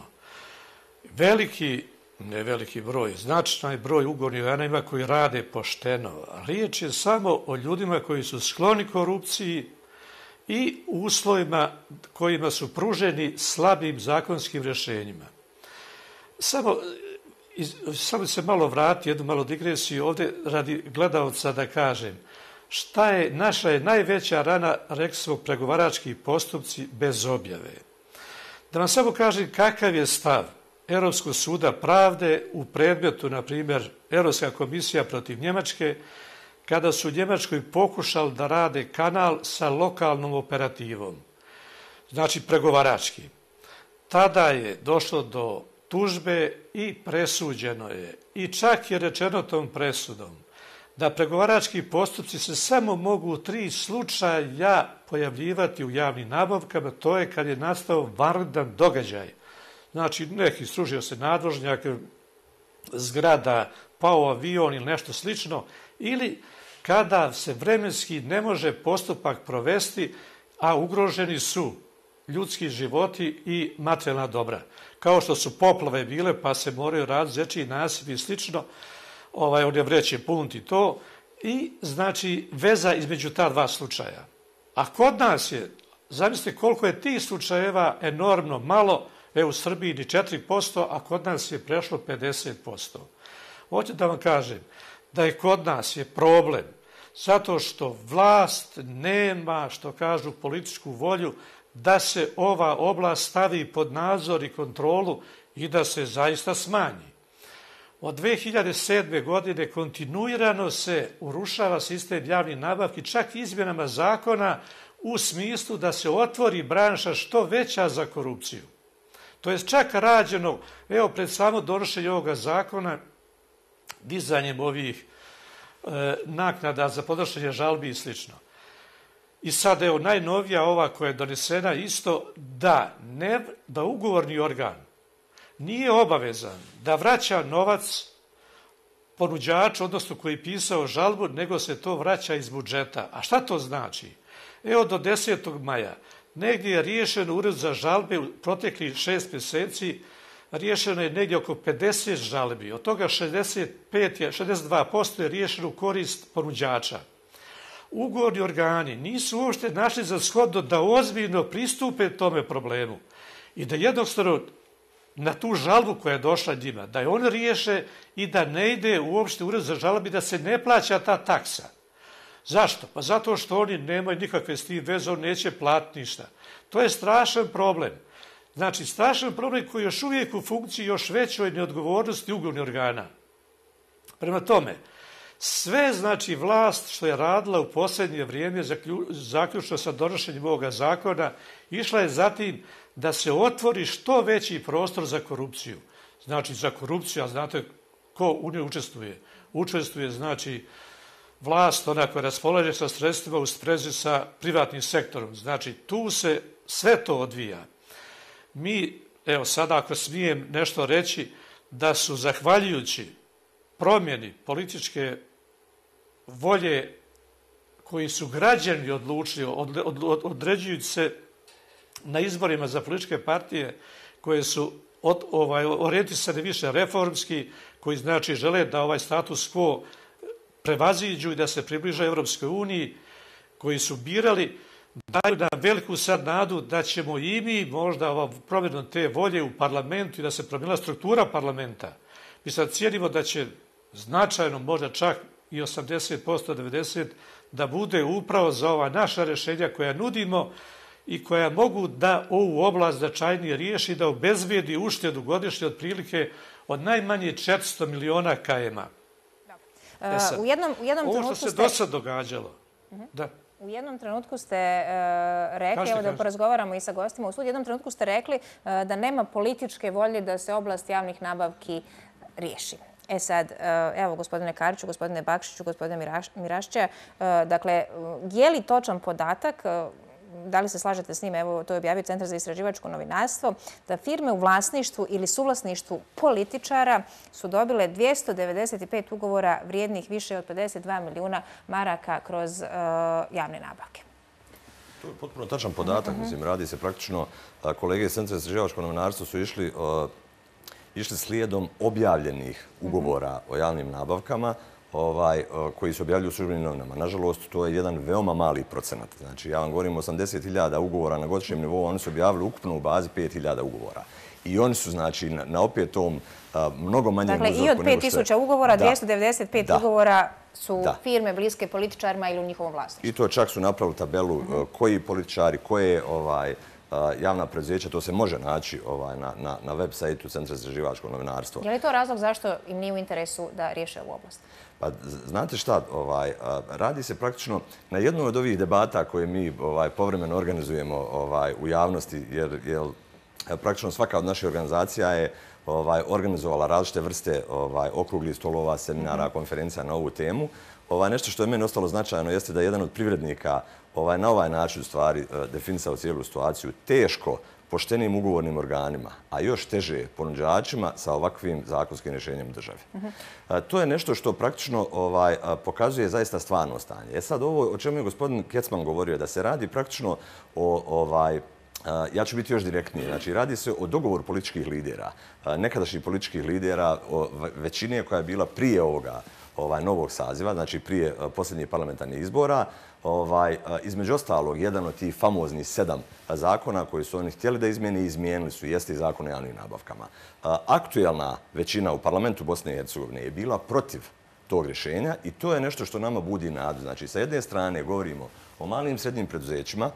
Veliki, ne veliki broj, značajan broj ugovornih organa koji rade pošteno. Riječ je samo o ljudima koji su skloni korupciji i uslovima kojima su pruženi slabim zakonskim rješenjima. Samo, samo se malo vrati, jednu malo digresiju ovdje radi gledalca da kažem. Šta je naša je najveća rana, rekli smo, pregovarački postupci bez objave. Da vam samo kažem kakav je stav Europskog suda pravde u predmetu, na primjer, Europska komisija protiv Njemačke, kada su u Njemačkoj pokušali da rade kanal sa lokalnom operativom. Znači, pregovarački. Tada je došlo do tužbe i presuđeno je. I čak je rečeno tom presudom da pregovarački postupci se samo mogu u tri slučaja pojavljivati u javnim nabavkama, to je kad je nastao vanredan događaj. Znači, neki srušio se nadvožnjak, zgrada, pao avion ili nešto slično, ili kada se vremenski ne može postupak provesti, a ugroženi su ljudski životi i materijalna dobra. Kao što su poplave bile, pa se moraju raditi zečiji nasipi i slično, ovaj, on je vreće punti to, i znači veza između ta dva slučaja. A kod nas je, zamislite koliko je tih slučajeva enormno malo, e u Srbiji ni četiri posto, a kod nas je prešlo pedeset posto. Hoću da vam kažem da je kod nas je problem zato što vlast nema, što kažu, političku volju da se ova oblast stavi pod nadzor i kontrolu i da se zaista smanji. Od dve hiljade sedme. godine kontinuirano se urušava sistem javnih nabavki, čak izmjenama zakona u smislu da se otvori branša što veća za korupciju. To je čak rađeno, evo, pred samo donošenje ovoga zakona, dizanjem ovih e, naknada za podnošenje žalbi i slično. I sad, evo, najnovija ova koja je donesena isto da, ne, da ugovorni organ nije obavezan da vraća novac ponuđaču, odnosno koji je pisao žalbu, nego se to vraća iz budžeta. A šta to znači? Evo, do desetog maja negdje je riješen ured za žalbe u proteklih šest mjeseci, riješeno je negdje oko pedeset žalbi. Od toga šezdeset pet je, šezdeset dva posto je riješeno u korist ponuđača. Ugovorni organi nisu uopšte našli za shodno da ozbiljno pristupe tome problemu i da jednostavno na tu žalbu koja je došla njima, da je oni riješe i da ne ide uopšte ured za žalbi, da se ne plaća ta taksa. Zašto? Pa zato što oni nemaju nikakve s tim veze, on neće platiti ništa. To je strašan problem. Znači, strašan problem koji je još uvijek u funkciji još većoj neodgovornosti ugovornih organa. Prema tome, sve, znači, vlast što je radila u posljednje vrijeme, zaključno sa donošenjem ovoga zakona, išla je zatim da se otvori što veći prostor za korupciju. Znači, za korupciju, a znate ko u njoj učestvuje? Učestvuje, znači, vlast, ona koja raspolaže sa sredstvima u sprezi sa privatnim sektorom. Znači, tu se sve to odvija. Mi, evo sada ako smijem nešto reći, da su zahvaljujući promjeni političke volje koji su građani odlučili, od, od, od, određujući se na izborima za političke partije koje su od, ovaj, orijentisane više reformski, koji znači žele da ovaj status quo prevaziđu i da se približe Evropskoj uniji, koji su birali, daju nam veliku sad nadu da ćemo i mi možda ovo promjenom te volje u parlamentu i da se promijenila struktura parlamenta. Mi sad cijenimo da će značajno, možda čak i osamdeset posto, devedeset posto, da bude upravo za ova naša rješenja koja nudimo i koja mogu da ovu oblast značajnije riješi, da obezbijedi uštedu godišnje otprilike od najmanje četiristo miliona kajema. E sad, u jednom, u jednom ovo što se ste... do sad događalo. Uh-huh. Da. U jednom trenutku ste uh, rekli, kažete, evo da porazgovaramo i sa gostima u studiju, u jednom trenutku ste rekli uh, da nema političke volje da se oblast javnih nabavki riješi. E sad, evo, gospodine Kariću, gospodine Bakšiću, gospodine Mirašća, dakle, je li točan podatak, da li se slažete s njim, evo, to je objavio Centar za istraživačko novinarstvo, da firme u vlasništvu ili suvlasništvu političara su dobile dvjesto devedeset pet ugovora vrijednih više od pedeset dva milijuna maraka kroz uh, javne nabavke? To je potpuno tačan podatak. Uh-huh. Mislim, radi se praktično, kolege iz Centra za istraživačko novinarstvo su išli uh, išli slijedom objavljenih ugovora o javnim nabavkama ovaj, koji se objavljuju u službenim novinama. Nažalost, to je jedan veoma mali procenat. Znači, ja vam govorim osamdeset hiljada ugovora na godišnjem nivou, oni su objavili ukupno u bazi pet hiljada ugovora. I oni su, znači, na, na opet tom a, mnogo manjem dakle, uzorku. Dakle, i od pet tisuća ugovora, da, dvjesto devedeset pet da, ugovora su da. firme bliske političarima ili u njihovom vlasništvu. I to čak su napravili tabelu uh-huh. koji političari, koje ovaj, javna preduzeća, to se može naći ovaj, na, na, na web sajtu Centra za istraživačko novinarstvo. Je li to razlog zašto im nije u interesu da riješe ovu oblast? Pa, znate šta, ovaj, radi se praktično na jednoj od ovih debata koje mi ovaj, povremeno organizujemo ovaj, u javnosti, jer, jer praktično svaka od naših organizacija je ovaj, organizovala različite vrste ovaj, okruglih stolova, seminara, mm-hmm. konferencija na ovu temu. Ovaj, nešto što je meni ostalo značajno jeste da jedan od privrednika ovaj, na ovaj način u stvari definisao cijelu situaciju teško poštenim ugovornim organima, a još teže ponuđačima sa ovakvim zakonskim rješenjem države. Uh-huh. a, to je nešto što praktično ovaj, a, pokazuje zaista stvarno stanje. E sad, ovo o čemu je gospodin Kecman govorio, da se radi praktično o, ovaj, a, ja ću biti još direktniji, znači radi se o dogovoru političkih lidera, a, nekadašnjih političkih lidera, o većine koja je bila prije ovoga ovaj, novog saziva, znači prije a, posljednjih parlamentarnih izbora. Ovaj, između ostalog, jedan od tih famoznih sedam zakona koji su oni htjeli da izmijeni i izmijenili su, jeste i zakon o javnim nabavkama. Aktuelna većina u parlamentu Bosne i Hercegovine je bila protiv tog rješenja i to je nešto što nama budi nadu. Znači, sa jedne strane govorimo o malim i srednjim preduzećima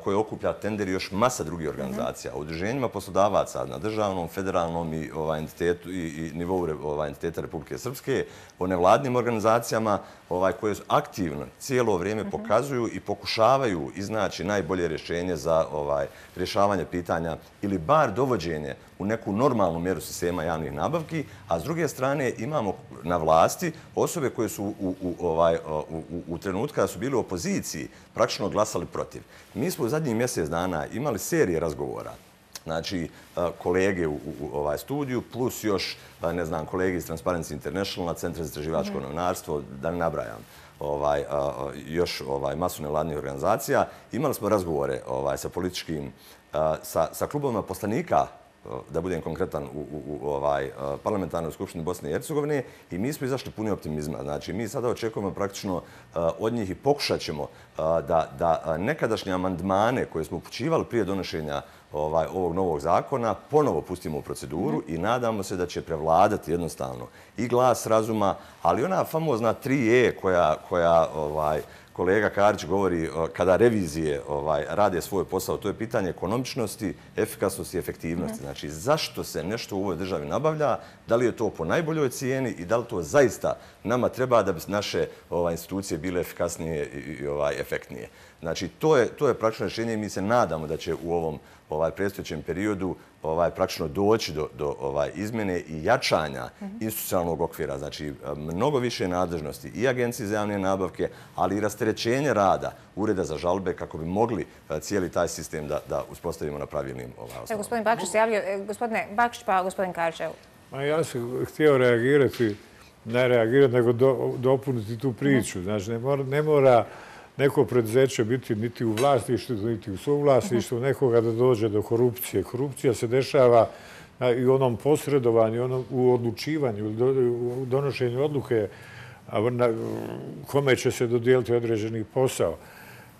koje okuplja tender i još masa drugih organizacija, o udruženjima poslodavaca na državnom, federalnom i, ovaj, entitetu, i, i nivou ovaj, entiteta Republike Srpske, o nevladnim organizacijama ovaj, koje aktivno cijelo vrijeme pokazuju i pokušavaju iznaći najbolje rješenje za ovaj, rješavanje pitanja ili bar dovođenje u neku normalnu mjeru sistema javnih nabavki, a s druge strane imamo na vlasti osobe koje su u, u, ovaj, u, u, u trenutku kada su bili u opoziciji praktično glasali protiv. Mi smo u zadnjih mjesec dana imali serije razgovora, znači kolege u, u ovaj studiju, plus još, ne znam, kolege iz Transparency International, Centra za istraživačko novinarstvo, da ne nabrajam, ovaj, još ovaj, masu nevladnih organizacija. Imali smo razgovore ovaj, sa političkim, sa, sa klubovima poslanika, da budem konkretan, u, u, u ovaj, parlamentarnoj skupštini Bosne i Hercegovine i mi smo izašli puni optimizma. Znači, mi sada očekujemo praktično od njih i pokušat ćemo da, da nekadašnje amandmane koje smo upućivali prije donošenja ovog novog zakona ponovo pustimo u proceduru i nadamo se da će prevladati jednostavno i glas razuma, ali ona famozna tri E koja kolega Karić govori kada revizije rade svoj posao, to je pitanje ekonomičnosti, efikasnosti i efektivnosti. Znači, zašto se nešto u ovoj državi nabavlja, da li je to po najboljoj cijeni i da li to zaista nama treba da bi naše institucije bile efikasnije i efektnije. Znači, to je praktično rješenje i mi se nadamo da će u ovom predstojećem periodu praktično doći do izmjene i jačanja institucionalnog okvira. Znači, mnogo više nadležnosti i Agencije za javne nabavke, ali i rasterećenje rada Ureda za žalbe kako bi mogli cijeli taj sistem da uspostavimo na pravilnim osnovama. Gospodin Bakšić se javio. Gospodine Bakšić, pa gospodin Karić. Ja sam htio reagirati, ne reagirati, nego dopuniti tu priču. Znači, ne mora neko preduzeće biti niti u vlasništvu, niti u suvlasništvu nekoga da dođe do korupcije. Korupcija se dešava i u onom posredovanju, u odlučivanju, u donošenju odluke kome će se dodijeliti određeni posao.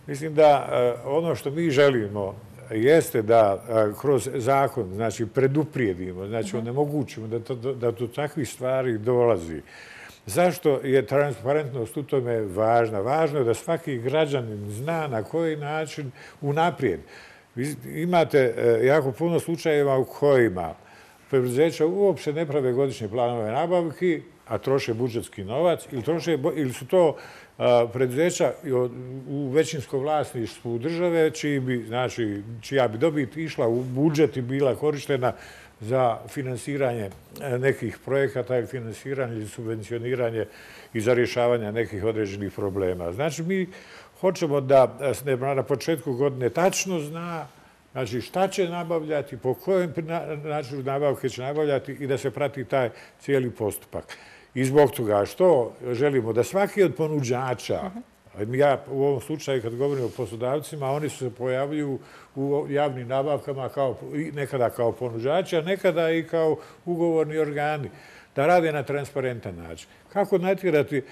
Mislim da ono što mi želimo jeste da kroz zakon, znači, preduprijedimo, znači, onemogućimo da do takvih stvari dolazi. Zašto je transparentnost u tome važna? Važno je da svaki građanin zna na koji način unaprijed. Imate jako puno slučajeva u kojima preduzeća uopšte ne prave godišnje planove nabavki, a troše budžetski novac, ili su to preduzeća u većinskom vlasništvu države, čija bi dobit išla u budžet i bila korištena za finansiranje nekih projekata ili finansiranje ili subvencioniranje i za rješavanje nekih određenih problema. Znači, mi hoćemo da se na početku godine tačno zna znači šta će nabavljati, po kojem načinu nabavke će nabavljati i da se prati taj cijeli postupak. I zbog toga što želimo da svaki od ponuđača, ja u ovom slučaju kad govorim o poslodavcima, oni se pojavljuju u javnim nabavkama nekada kao ponuđači, a nekada i kao ugovorni organi, da rade na transparentan način. Kako natjerati?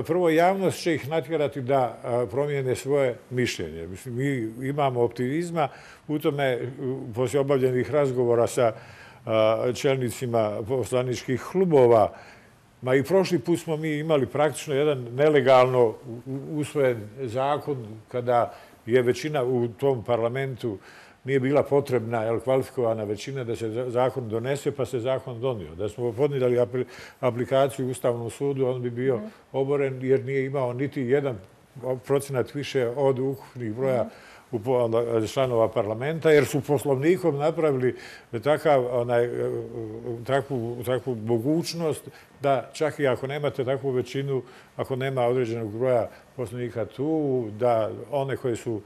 Prvo, javnost će ih natjerati da promijene svoje mišljenje. Mislim, mi imamo optimizma u tome, poslije obavljenih razgovora sa čelnicima poslaničkih klubova. Ma i prošli put smo mi imali praktično jedan nelegalno usvojen zakon kada je većina u tom parlamentu nije bila potrebna kvalifikovana većina da se zakon donese, pa se zakon donio. Da smo podnijeli aplikaciju u Ustavnom sudu, on bi bio oboren jer nije imao niti jedan procenat više od ukupnih broja članova parlamenta, jer su poslovnikom napravili takvu mogućnost da čak i ako nemate takvu većinu, ako nema određenog broja poslovnika tu, da one koji su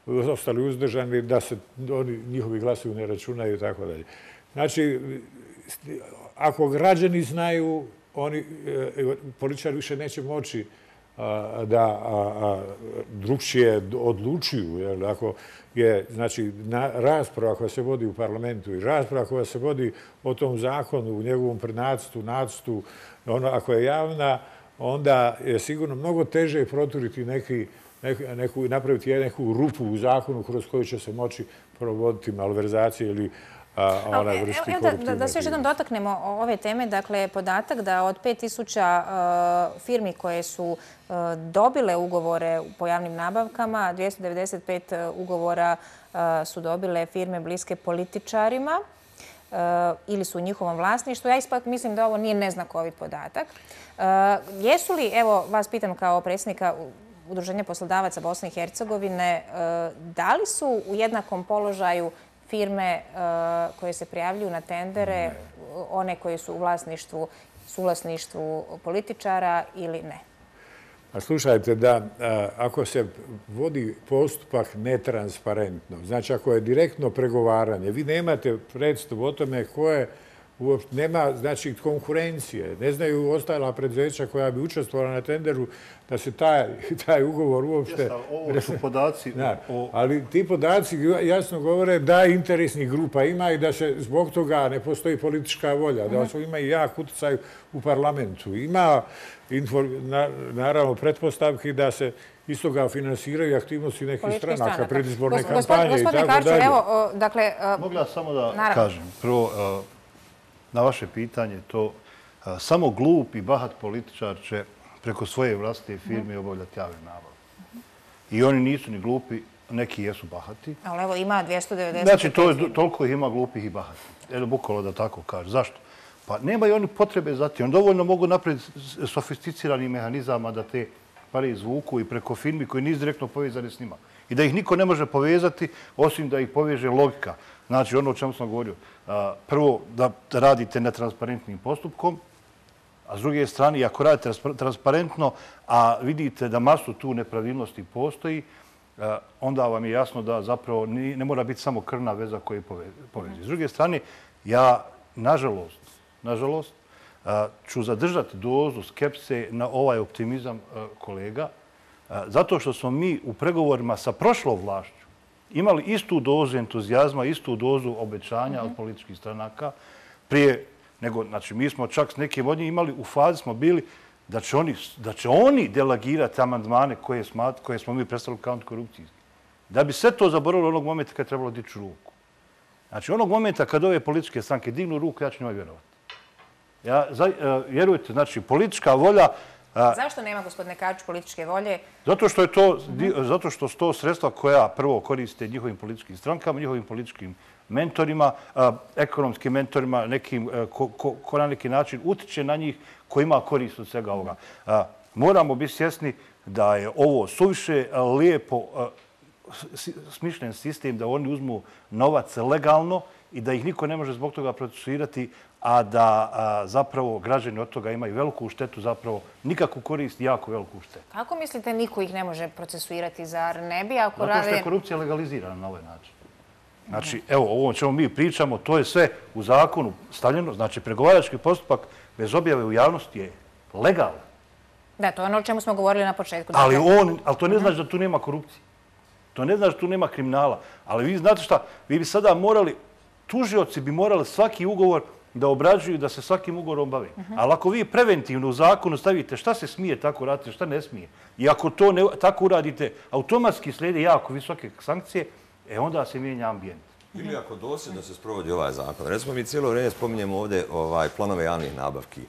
ostali uzdržani, da se njihovi glasovi ne računaju i tako dalje. Znači, ako građani znaju, političari više neće moći da drugčije odlučuju. Ako je rasprava koja se vodi u parlamentu i rasprava koja se vodi o tom zakonu, u njegovom prenacrtu, nacrtu, ako je javna, onda je sigurno mnogo teže proturiti neki, napraviti neku rupu u zakonu kroz koju će se moći provoditi malverzacije ili onaj vrsti koruptivne. Da se još jednom dotaknemo ove teme, dakle, podatak da od pet tisuća firmi koje su dobile ugovore po javnim nabavkama, dvjesto devedeset pet ugovora su dobile firme bliske političarima ili su u njihovom vlasništvu. Ja ispak mislim da ovo nije neznakovit podatak. Jesu li, evo vas pitam kao predsjednika Udruženja poslodavaca Bosne i Hercegovine, da li su u jednakom položaju firme koje se prijavljuju na tendere, one koje su u vlasništvu, suvlasništvu političara ili ne? A slušajte, da ako se vodi postupak netransparentno, znači ako je direktno pregovaranje, vi nemate predstavu o tome ko je uopšte nema znači, konkurencije. Ne znaju ostala preduzeća koja bi učestvovala na tenderu da se taj, taj ugovor uopšte... Jeste, ovo su podaci... Da, o... ali ti podaci jasno govore da interesnih grupa ima i da se zbog toga ne postoji politička volja, da su ima i jak utjecaj u parlamentu. Ima naravno pretpostavki da se iz toga finansiraju aktivnosti nekih stranaka, predizborne kampanje i tako dalje. Evo, dakle... Mogu ja samo da kažem. Prvo, na vaše pitanje, to samo glup i bahat političar će preko svoje vlastite firme obavljati javne nabavke. I oni nisu ni glupi, neki jesu bahati. Ali evo ima dvjesto devedeset... Znači, toliko ih ima glupih i bahati. Evo, bukvalo da tako kaže. Zašto? Pa nemaju oni potrebe za tim. Oni dovoljno mogu napraviti sofisticirani mehanizama da te pare izvuku i preko firmi koji nisu direktno povezani s njima. I da ih niko ne može povezati, osim da ih poveže logika. Znači, ono o čemu sam govorio. Prvo, da radite netransparentnim postupkom, a s druge strane, ako radite transparentno, a vidite da masu tu nepravilnosti postoji, onda vam je jasno da zapravo ne mora biti samo krvna veza koja povezi. S druge strane, ja, nažalost, nažalost, ću zadržati dozu skepse na ovaj optimizam kolega, zato što smo mi u pregovorima sa prošlom vlašću imali istu dozu entuzijazma, istu dozu obećanja od političkih stranaka prije nego, znači, mi smo čak s nekim od njih imali, u fazi smo bili da će oni, da će oni delegirati amandmane koje, smat, koje smo mi predstavili kao antikorupcijski. Da bi sve to zaboravilo onog momenta kad je trebalo dići ruku. Znači, onog momenta kad ove političke stranke dignu ruku, ja ću njima vjerovati. Ja, za, vjerujte, znači, politička volja... Zašto nema, gospodine Kačić, političke volje? Zato što je to, zato što su to sredstva koja prvo koriste njihovim političkim strankama, njihovim političkim mentorima, ekonomskim mentorima, nekim, ko, ko, ko na neki način utiče na njih, ko ima korist od svega ovoga. Moramo biti svjesni da je ovo suviše lijepo smišljen sistem, da oni uzmu novac legalno i da ih niko ne može zbog toga procesuirati, a da a, zapravo građani od toga imaju veliku štetu, zapravo nikakvu korist i jako veliku štetu. Kako mislite niko ih ne može procesuirati? Zar ne bi ako rade... Zato što je korupcija legalizirana na ovaj način. Znači, evo, ovo o čemu mi pričamo, to je sve u zakonu stavljeno. Znači, pregovarački postupak bez objave u javnosti je legalan. Da, to je ono o čemu smo govorili na početku. Ali, on, ali to ne znači da tu nema korupcije. To ne znači da tu nema kriminala. Ali vi znate šta, vi bi sada morali, tužioci bi morali svaki ugovor da obrađuju, da se svakim ugovorom bave. Ali ako vi preventivno u zakonu stavite šta se smije tako raditi, šta ne smije, i ako to ne, tako uradite, automatski slijede jako visoke sankcije, e onda se mijenja ambijent. Ili ako dosljedno se sprovodi ovaj zakon. Recimo, mi cijelo vrijeme spominjemo ovdje ovaj, planove javnih nabavki.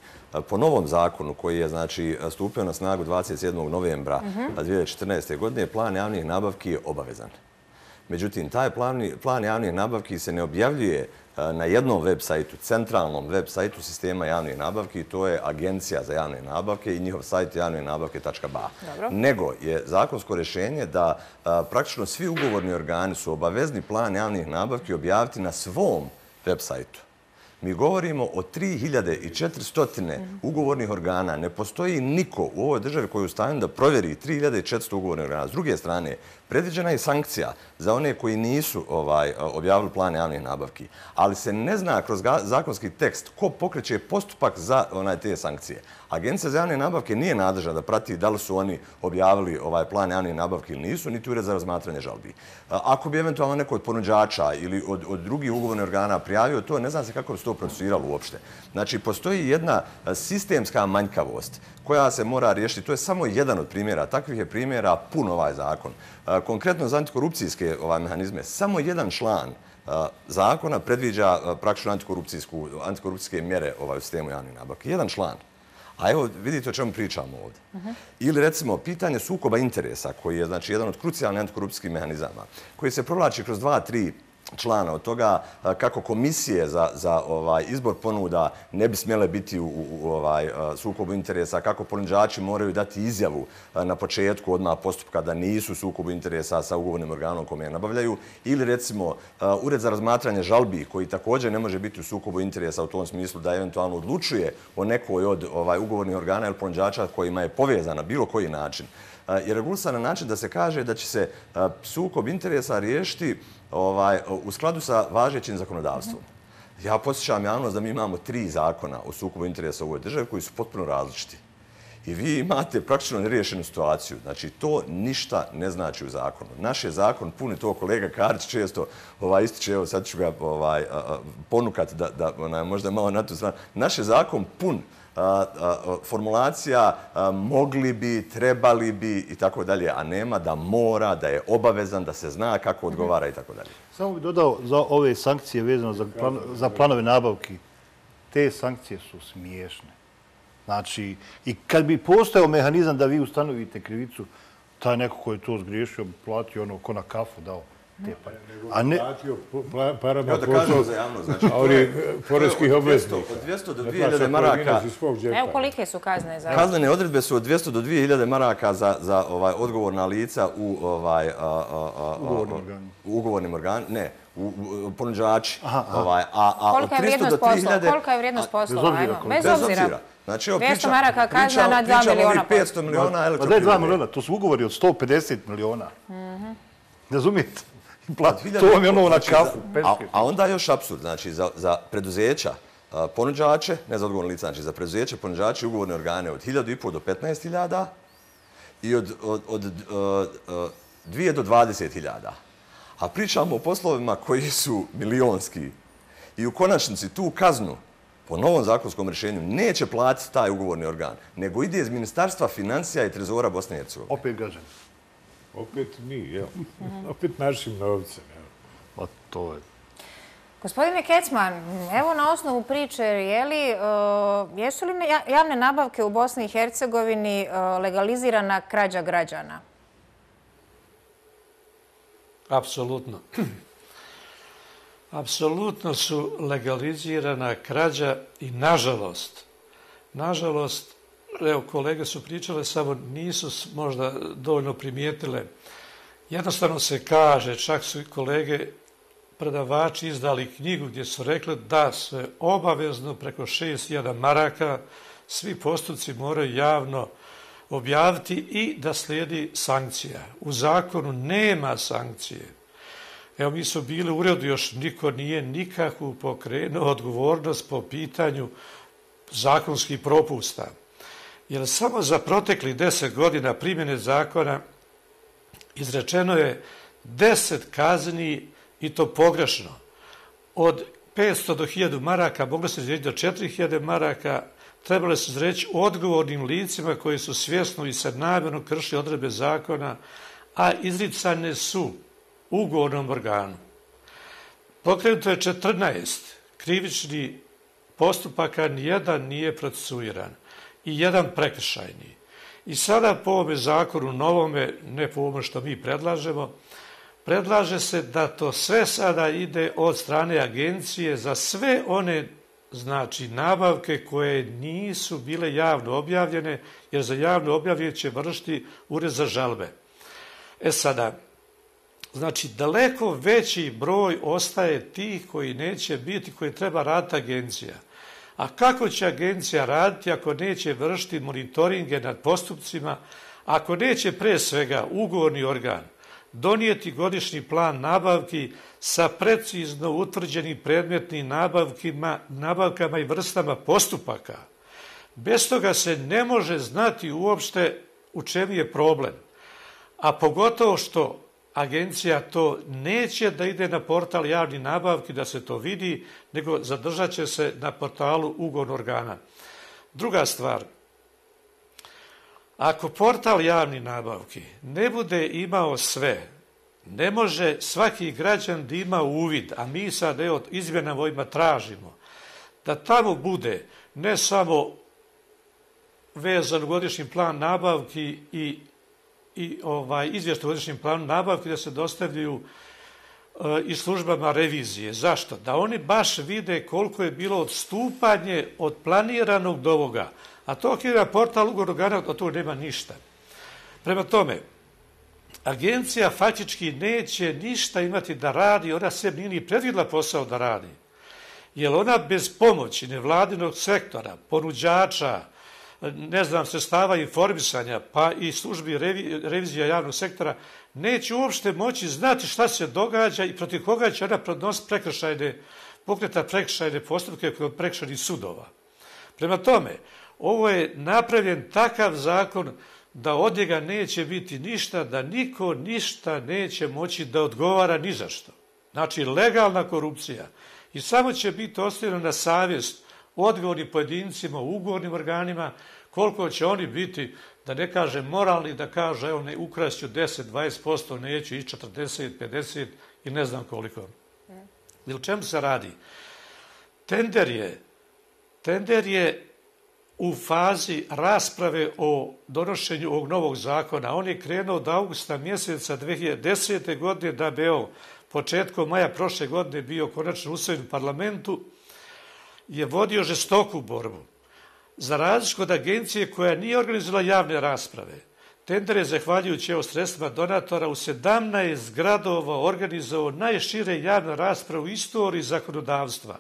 Po novom zakonu koji je znači, stupio na snagu dvadeset sedmog novembra dvije hiljade četrnaeste. godine, plan javnih nabavki je obavezan. Međutim, taj plan, plan javnih nabavki se ne objavljuje na jednom web sajtu, centralnom web sajtu sistema javnih nabavki, to je Agencija za javne nabavke i njihov sajt javne nabavke tačka ba. Nego je zakonsko rješenje da a, praktično svi ugovorni organi su obavezni plan javnih nabavki objaviti na svom web sajtu. Mi govorimo o tri hiljade četiristo ugovornih organa. Ne postoji niko u ovoj državi koji je u stanju da provjeri tri hiljade četiristo ugovornih organa. S druge strane, predviđena je sankcija za one koji nisu ovaj, objavili plan javnih nabavki, ali se ne zna kroz zakonski tekst ko pokreće postupak za onaj, te sankcije. Agencija za javne nabavke nije nadležna da prati da li su oni objavili ovaj plan javnih nabavki ili nisu, niti ured za razmatranje žalbi. Ako bi eventualno neko od ponuđača ili od, od drugih ugovornih organa prijavio to, ne zna se kako bi se to procesuiralo uopšte. Znači, postoji jedna sistemska manjkavost koja se mora riješiti. To je samo jedan od primjera. Takvih je primjera puno ovaj zakon. Konkretno za antikorupcijske ovaj, mehanizme, samo jedan član zakona predviđa praktično antikorupcijske mjere ovaj, u sistemu javnih nabavki. Jedan član. A evo, vidite o čemu pričamo ovdje. Uh-huh. Ili recimo, pitanje sukoba interesa, koji je znači, jedan od krucijalnih antikorupcijskih mehanizama, koji se provlači kroz dva, tri člana od toga kako komisije za, za ovaj, izbor ponuda ne bi smjele biti u, u, u ovaj, sukobu interesa, kako ponuđači moraju dati izjavu na početku odmah postupka da nisu u sukobu interesa sa ugovornim organom kome je nabavljaju, ili recimo ured za razmatranje žalbi koji također ne može biti u sukobu interesa u tom smislu da eventualno odlučuje o nekoj od ovaj, ugovornih organa ili ponuđača kojima je povezana bilo koji način. Je regulisan na način da se kaže da će se sukob interesa riješiti ovaj, u skladu sa važećim zakonodavstvom. Ja podsjećam javnost da mi imamo tri zakona o sukobu interesa u ovoj državi koji su potpuno različiti. I vi imate praktično neriješenu situaciju. Znači, to ništa ne znači u zakonu. Naš je zakon pun, to kolega Karić često ovaj, ističe, evo sad ću ga ovaj, ponukati da, da ona, možda malo na tu stranu. Naš je zakon pun a, a, formulacija a, mogli bi, trebali bi i tako dalje, a nema da mora, da je obavezan, da se zna kako odgovara i tako dalje. Samo bih dodao za ove sankcije vezano za, plan, za planove nabavki. Te sankcije su smiješne. Znači, i kad bi postojao mehanizam da vi ustanovite krivicu, taj neko koji je to zgriješio, platio ono ko na kafu dao te pare. A ne... Platio parama da kažem za javnost, znači, a oni poreskih obveznika. Od dvjesto do dvije hiljade maraka. Evo kolike su kazne za... Kaznene odredbe su od dvjesto do dvije hiljade maraka za, za ovaj, odgovorna lica u ovaj, a, a, a, u ugovornim organima. Ne, u, u ponuđači. Ovaj, a, a kolika je vrijednost poslova? Kolika je vrijednost poslova? Bez obzira. Znači, evo, dvjesto maraka kazna na dva miliona poslova. petsto miliona elektroprivrede. Pa da je dva miliona, to su ugovori od sto pedeset miliona. Razumijete? To vam je ono na kafu. A, a onda još apsurd, znači za, za preduzeća ponuđače, ne za odgovorne lica, znači za preduzeće ponuđače i ugovorne organe od hiljadu i pol do petnaest hiljada i od, od, od, od dvije do dvadeset hiljada. A pričamo o poslovima koji su milionski i u konačnici tu kaznu po novom zakonskom rješenju neće platiti taj ugovorni organ, nego ide iz Ministarstva financija i Trezora Bosne i Hercegovine. Opet građani. Opet mi, jel? Opet našim novcem, jel? Pa to je... Gospodine Kecman, evo na osnovu priče, je li, uh, jesu li javne nabavke u Bosni i Hercegovini uh, legalizirana krađa građana? Apsolutno. Apsolutno su legalizirana krađa i nažalost, nažalost, evo kolege su pričale, samo nisu možda dovoljno primijetile. Jednostavno se kaže, čak su kolege predavači izdali knjigu gdje su rekli da se obavezno preko šest hiljada maraka svi postupci moraju javno objaviti i da slijedi sankcija. U zakonu nema sankcije. Evo, mi su bili u uredu, još niko nije nikakvu pokrenuo odgovornost po pitanju zakonskih propusta. Jer samo za proteklih deset godina primjene zakona izrečeno je deset kazni i to pogrešno. Od petsto do hiljadu maraka moglo se izreći do četiri hiljade maraka, trebalo se izreći odgovornim licima koji su svjesno i sad namjerno kršili odredbe zakona, a izricane su ugovornom organu. Pokrenuto je četrnaest krivičnih postupaka, nijedan nije procesuiran i jedan prekršajni. I sada po ovome zakonu novome, ne po ovome što mi predlažemo, predlaže se da to sve sada ide od strane agencije za sve one znači nabavke koje nisu bile javno objavljene, jer za javno objavljanje će vršiti ured za žalbe. E sada, znači daleko veći broj ostaje tih koji neće biti, koji treba raditi agencija. A kako će agencija raditi ako neće vršiti monitoringe nad postupcima, ako neće pre svega ugovorni organ donijeti godišnji plan nabavki sa precizno utvrđenim predmetnim nabavkima, nabavkama i vrstama postupaka. Bez toga se ne može znati uopšte u čemu je problem. A pogotovo što agencija to neće da ide na portal javni nabavki da se to vidi, nego zadržat će se na portalu ugovornog organa. Druga stvar, ako portal javni nabavki ne bude imao sve, ne može svaki građan da ima uvid, a mi sad evo izmjenama ovima tražimo, da tamo bude ne samo vezan godišnji plan nabavki i i ovaj, izvještaj o godišnjem planu nabavki da se dostavljaju e, i službama revizije. Zašto? Da oni baš vide koliko je bilo odstupanje od planiranog do ovoga. A to ako je portal ugovornog organa, od toga nema ništa. Prema tome, agencija faktički neće ništa imati da radi, ona se nije ni predvidjela posao da radi. Jer ona bez pomoći nevladinog sektora, ponuđača, ne znam, sredstava informisanja, pa i službi revi, revizija javnog sektora, neće uopšte moći znati šta se događa i protiv koga će ona podnositi prekršajne pokreta prekršajne postupke kod prekršajnih sudova. Prema tome, ovo je napravljen takav zakon da od njega neće biti ništa, da niko ništa neće moći da odgovara ni za što. Znači, legalna korupcija. I samo će biti ostavljeno na savjest odgovornim pojedincima u ugovornim organima, koliko će oni biti, da ne kaže moralni, da kaže evo ne ukrašću deset do dvadeset posto, neću i četrdeset, pedeset i ne znam koliko. I o čemu se radi? Tender je, tender je u fazi rasprave o donošenju ovog novog zakona. On je krenuo od augusta mjeseca dve hiljade desete. godine da bi evo početkom maja prošle godine bio konačno usvojen u parlamentu, je vodio žestoku borbu. Za razliku od agencije koja nije organizovala javne rasprave, tender je, zahvaljujući evo sredstvima donatora, u sedamnaest gradova organizovao najšire javne rasprave u istoriji zakonodavstva.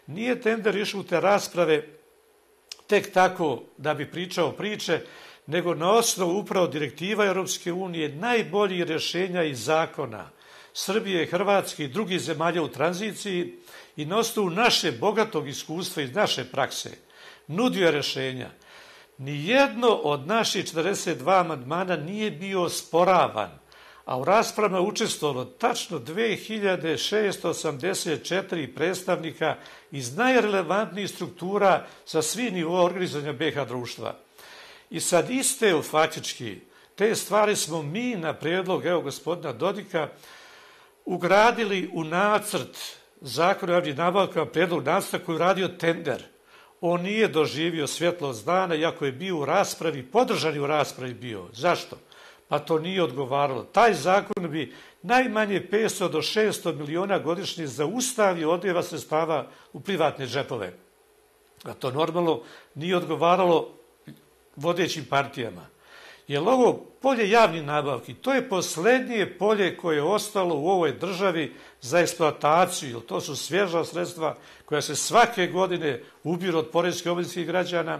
Nije tender išao u te rasprave tek tako da bi pričao priče, nego na osnovu upravo direktiva Europske unije, najboljih rješenja i zakona Srbije, Hrvatske i drugih zemalja u tranziciji i na osnovu naše bogatog iskustva iz naše prakse nudio rješenja. Nijedno od naših četrdeset dva amandmana nije bio osporavan, a u raspravama je učestvovalo tačno dve hiljade šesto osamdeset četiri predstavnika iz najrelevantnijih struktura sa svih nivoa organizovanja be ha društva. I sad iste faktički te stvari smo mi na prijedlog evo gospodina Dodika ugradili u nacrt zakona o javnim nabavkama, prijedlog nacrta koji je radio tender. On nije doživio svjetlost dana, iako je bio u raspravi, podržan je u raspravi bio. Zašto? Pa to nije odgovaralo. Taj zakon bi najmanje petsto do šesto miliona godišnje zaustavio odljeva sredstava u privatne džepove. A to normalno nije odgovaralo vodećim partijama. Jer ovo polje javnih nabavki, to je posljednje polje koje je ostalo u ovoj državi za eksploataciju, jer to su svježa sredstva koja se svake godine ubiru od poreskih obveznika građana,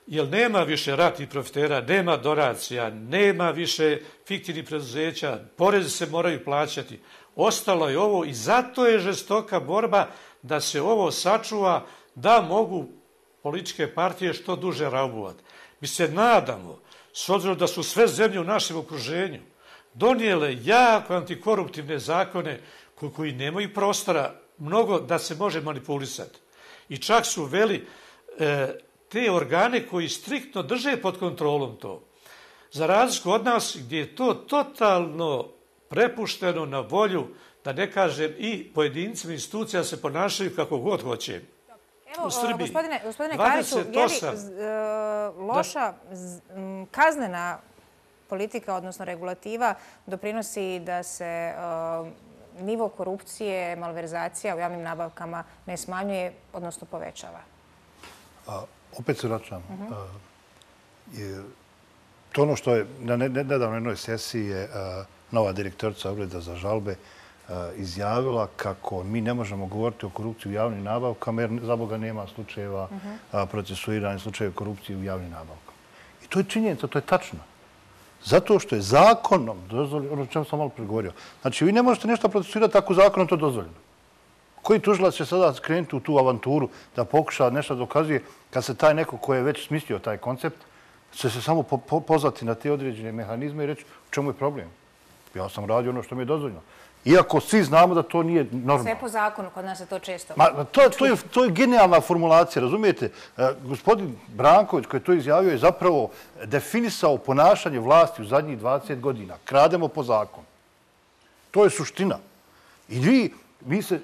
jer nema više ratnih profitera, nema donacija, nema više fiktivnih preduzeća, porezi se moraju plaćati. Ostalo je ovo i zato je žestoka borba da se ovo sačuva, da mogu političke partije što duže raubovati. Mi se nadamo, s obzirom da su sve zemlje u našem okruženju donijele jako antikoruptivne zakone koji nemaju prostora mnogo da se može manipulisati. I čak su uveli e, te organe koji striktno drže pod kontrolom to. Za razliku od nas gdje je to totalno prepušteno na volju, da ne kažem i pojedincima institucija se ponašaju kako god hoće. Evo, gospodine, gospodine Kariću, je li loša kaznena politika, odnosno regulativa, doprinosi da se nivo korupcije, malverzacija u javnim nabavkama ne smanjuje, odnosno povećava? Opet se vraćam. To ono što je na nedavnoj jednoj sesiji je nova direktorica Ureda za žalbe izjavila kako mi ne možemo govoriti o korupciji u javnim nabavkama jer za Boga nema slučajeva procesuiranja slučajeva korupcije u javnim nabavkama. I to je činjenica, to je tačno. Zato što je zakonom dozvoljeno, ono o čemu sam malo pregovorio. Znači, vi ne možete nešto procesuirati ako zakonom to dozvoljeno. Koji tužilac će sada krenuti u tu avanturu da pokuša nešto dokazuje kad se taj neko ko je već smislio taj koncept će se samo pozvati na te određene mehanizme i reći u čemu je problem. Ja sam radio ono što mi je dozvoljeno. Iako svi znamo da to nije normalno. Sve po zakonu, kod nas je to često. To je genijalna formulacija, razumijete? Gospodin Branković koji je to izjavio je zapravo definisao ponašanje vlasti u zadnjih dvadeset godina. Krademo po zakonu. To je suština. I vi, mi se,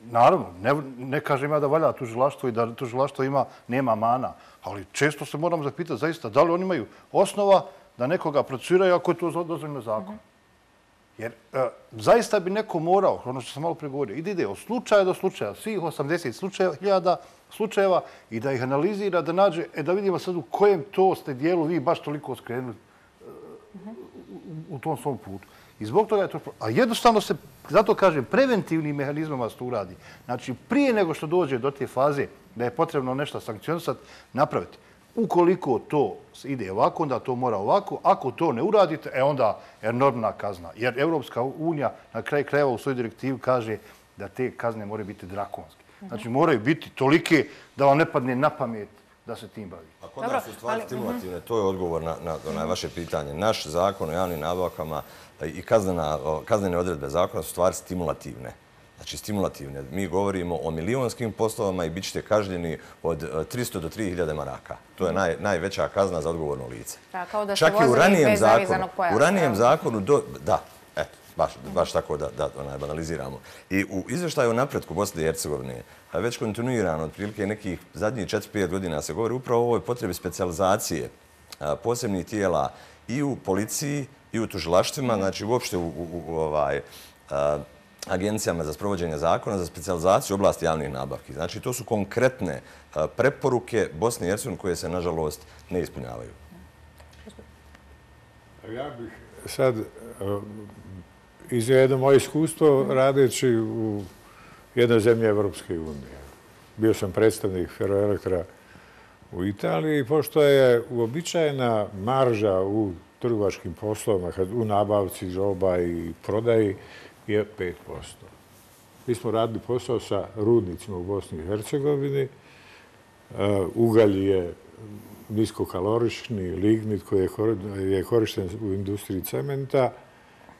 naravno, ne kažem ja da valja tužilaštvo i da tužilaštvo ima, nema mana, ali često se moramo zapitati zaista da li oni imaju osnova da nekoga procesuiraju ako je to dozvoljeno zakon. Jer zaista bi neko morao, ono što sam malo pregovorio, ide ide od slučaja do slučaja, svih osamdeset hiljada slučajeva i da ih analizira, da nađe, e da vidimo sad u kojem to ste dijelu vi baš toliko skrenuli u tom svom putu. I zbog toga je to... A jednostavno se, zato kažem, preventivnim mehanizmama se to uradi. Znači, prije nego što dođe do te faze da je potrebno nešto sankcionisati, napraviti. Ukoliko to ide ovako, onda to mora ovako. Ako to ne uradite, e onda enormna kazna. Jer Europska unija na kraju krajeva u svojoj direktivi kaže da te kazne moraju biti drakonske. Znači, moraju biti tolike da vam ne padne na pamet da se tim bavi. A kod nas su stvari stimulativne, to je odgovor na vaše pitanje. Naš zakon o javnim nabavkama i kaznene odredbe zakona su stvari stimulativne. Znači, stimulativne. Mi govorimo o milionskim poslovama i bit ćete kažnjeni od tristo do tri hiljade maraka. To je najveća kazna za odgovorno lice. Čak i u ranijem zakonu, u ranijem zakonu, da, eto, baš tako da banaliziramo. I u izveštaju o napretku Bosne i Hercegovine, već kontinuirano, otprilike nekih zadnjih četiri pet godina se govori upravo o ovoj potrebi specijalizacije posebnih tijela i u policiji i u tužilaštvima, znači uopšte u agencijama za sprovođenje zakona za specijalizaciju u oblasti javnih nabavki. Znači, to su konkretne preporuke Bosne i Hercegovine koje se, nažalost, ne ispunjavaju. Ja bih sad iznio jedno moje iskustvo radeći u jednoj zemlji Evropske unije. Bio sam predstavnik Ferroelektra u Italiji i pošto je uobičajena marža u trgovačkim poslovima, u nabavci roba i prodaji, je pet posto. Mi smo radili posao sa rudnicima u Bosni i Hercegovini. Ugalj je niskokalorični lignit koji je korišten u industriji cementa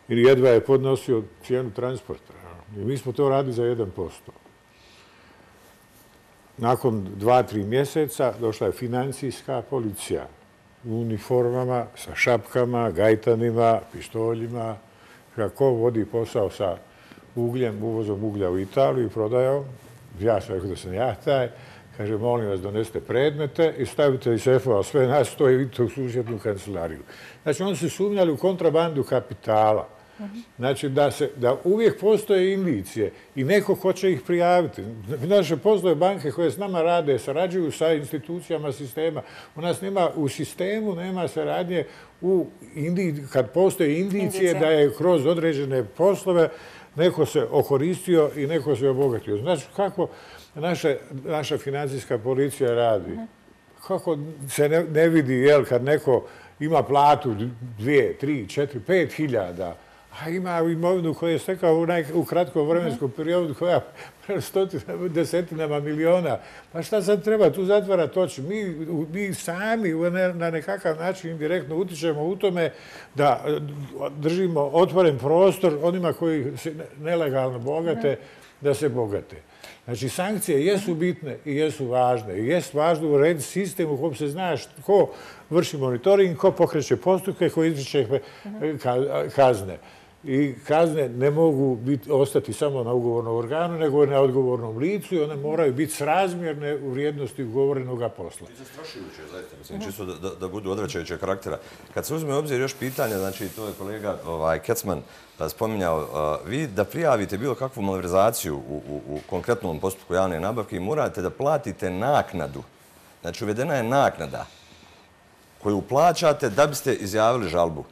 i jedva je podnosio cijenu transporta. I mi smo to radili za jedan posto. Nakon dva, tri mjeseca došla je financijska policija u uniformama, sa šapkama, gajtanima, pištoljima. Ko vodi posao sa ugljem, uvozom uglja u Italiju i prodajao, ja sam rekao da sam ja taj, kaže, molim vas, donesete predmete i stavite iz sefova sve nas, to je vidite u susjednu kancelariju. Znači, oni su sumnjali u kontrabandu kapitala. Znači, da uvijek postoje indicije i neko hoće ih prijaviti. Naše postoje banke koje s nama rade, sarađuju sa institucijama sistema. U nas nema, u sistemu nema saradnje kad postoje indicije da je kroz određene poslove neko se okoristio i neko se obogatio. Znači, kako naša financijska policija radi? Kako se ne vidi, kad neko ima platu dvije, tri, četiri, pet hiljada, a ima imovinu koju je stekao u kratkom vremenskom periodu koja stotinama, desetinama miliona. Pa šta sad treba tu zatvarati oči? Mi sami na nekakav način indirektno utičemo u tome da držimo otvoren prostor onima koji se nelegalno bogate, da se bogate. Znači, sankcije jesu bitne i jesu važne. I jesu važno urediti sistem u kojem se zna ko vrši monitoring, ko pokreće postupke, ko izriče kazne. I kazne ne mogu ostati samo na ugovornom organu, nego na odgovornom licu i one moraju biti srazmjerne u vrijednosti ugovorenog posla. I zastrašujuće, zaista, mislim, čisto da budu odvraćajućeg karaktera. Kad se uzme u obzir još pitanje, znači, to je kolega Kecman spominjao, vi da prijavite bilo kakvu malverzaciju u konkretnom postupku javne nabavke i morate da platite naknadu. Znači, uvedena je naknada koju plaćate da biste izjavili žalbu.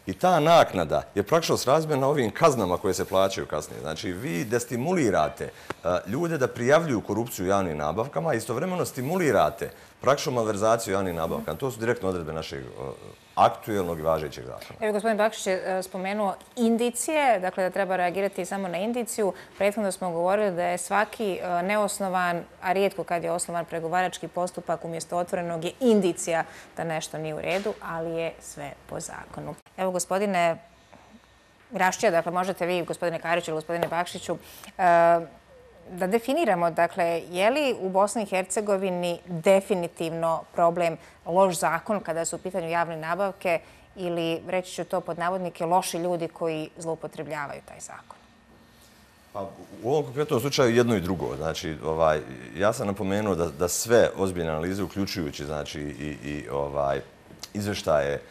I ta naknada je praktično srazmjerna ovim kaznama koje se plaćaju kasnije. Znači, vi destimulirate ljude da prijavljuju korupciju u javnim nabavkama i istovremeno stimulirate praktično malverzaciju javnim nabavkama. To su direktno odredbe našeg aktuelnog i važećeg zakona. Evo, gospodin Bakšić je spomenuo indicije, dakle da treba reagirati samo na indiciju. Prethodno smo govorili da je svaki neosnovan, a rijetko kad je osnovan pregovarački postupak umjesto otvorenog je indicija da nešto nije u redu, ali je sve po zakonu. Evo, gospodine Raščija, dakle možete vi, gospodine Kariću ili gospodine Bakšiću, da definiramo, dakle, je li u Bosni i Hercegovini definitivno problem loš zakon kada su u pitanju javne nabavke ili, reći ću to pod navodnike, loši ljudi koji zloupotrebljavaju taj zakon? U ovom konkretnom slučaju jedno i drugo. Znači, ja sam napomenuo da sve ozbiljne analize, uključujući i izveštaje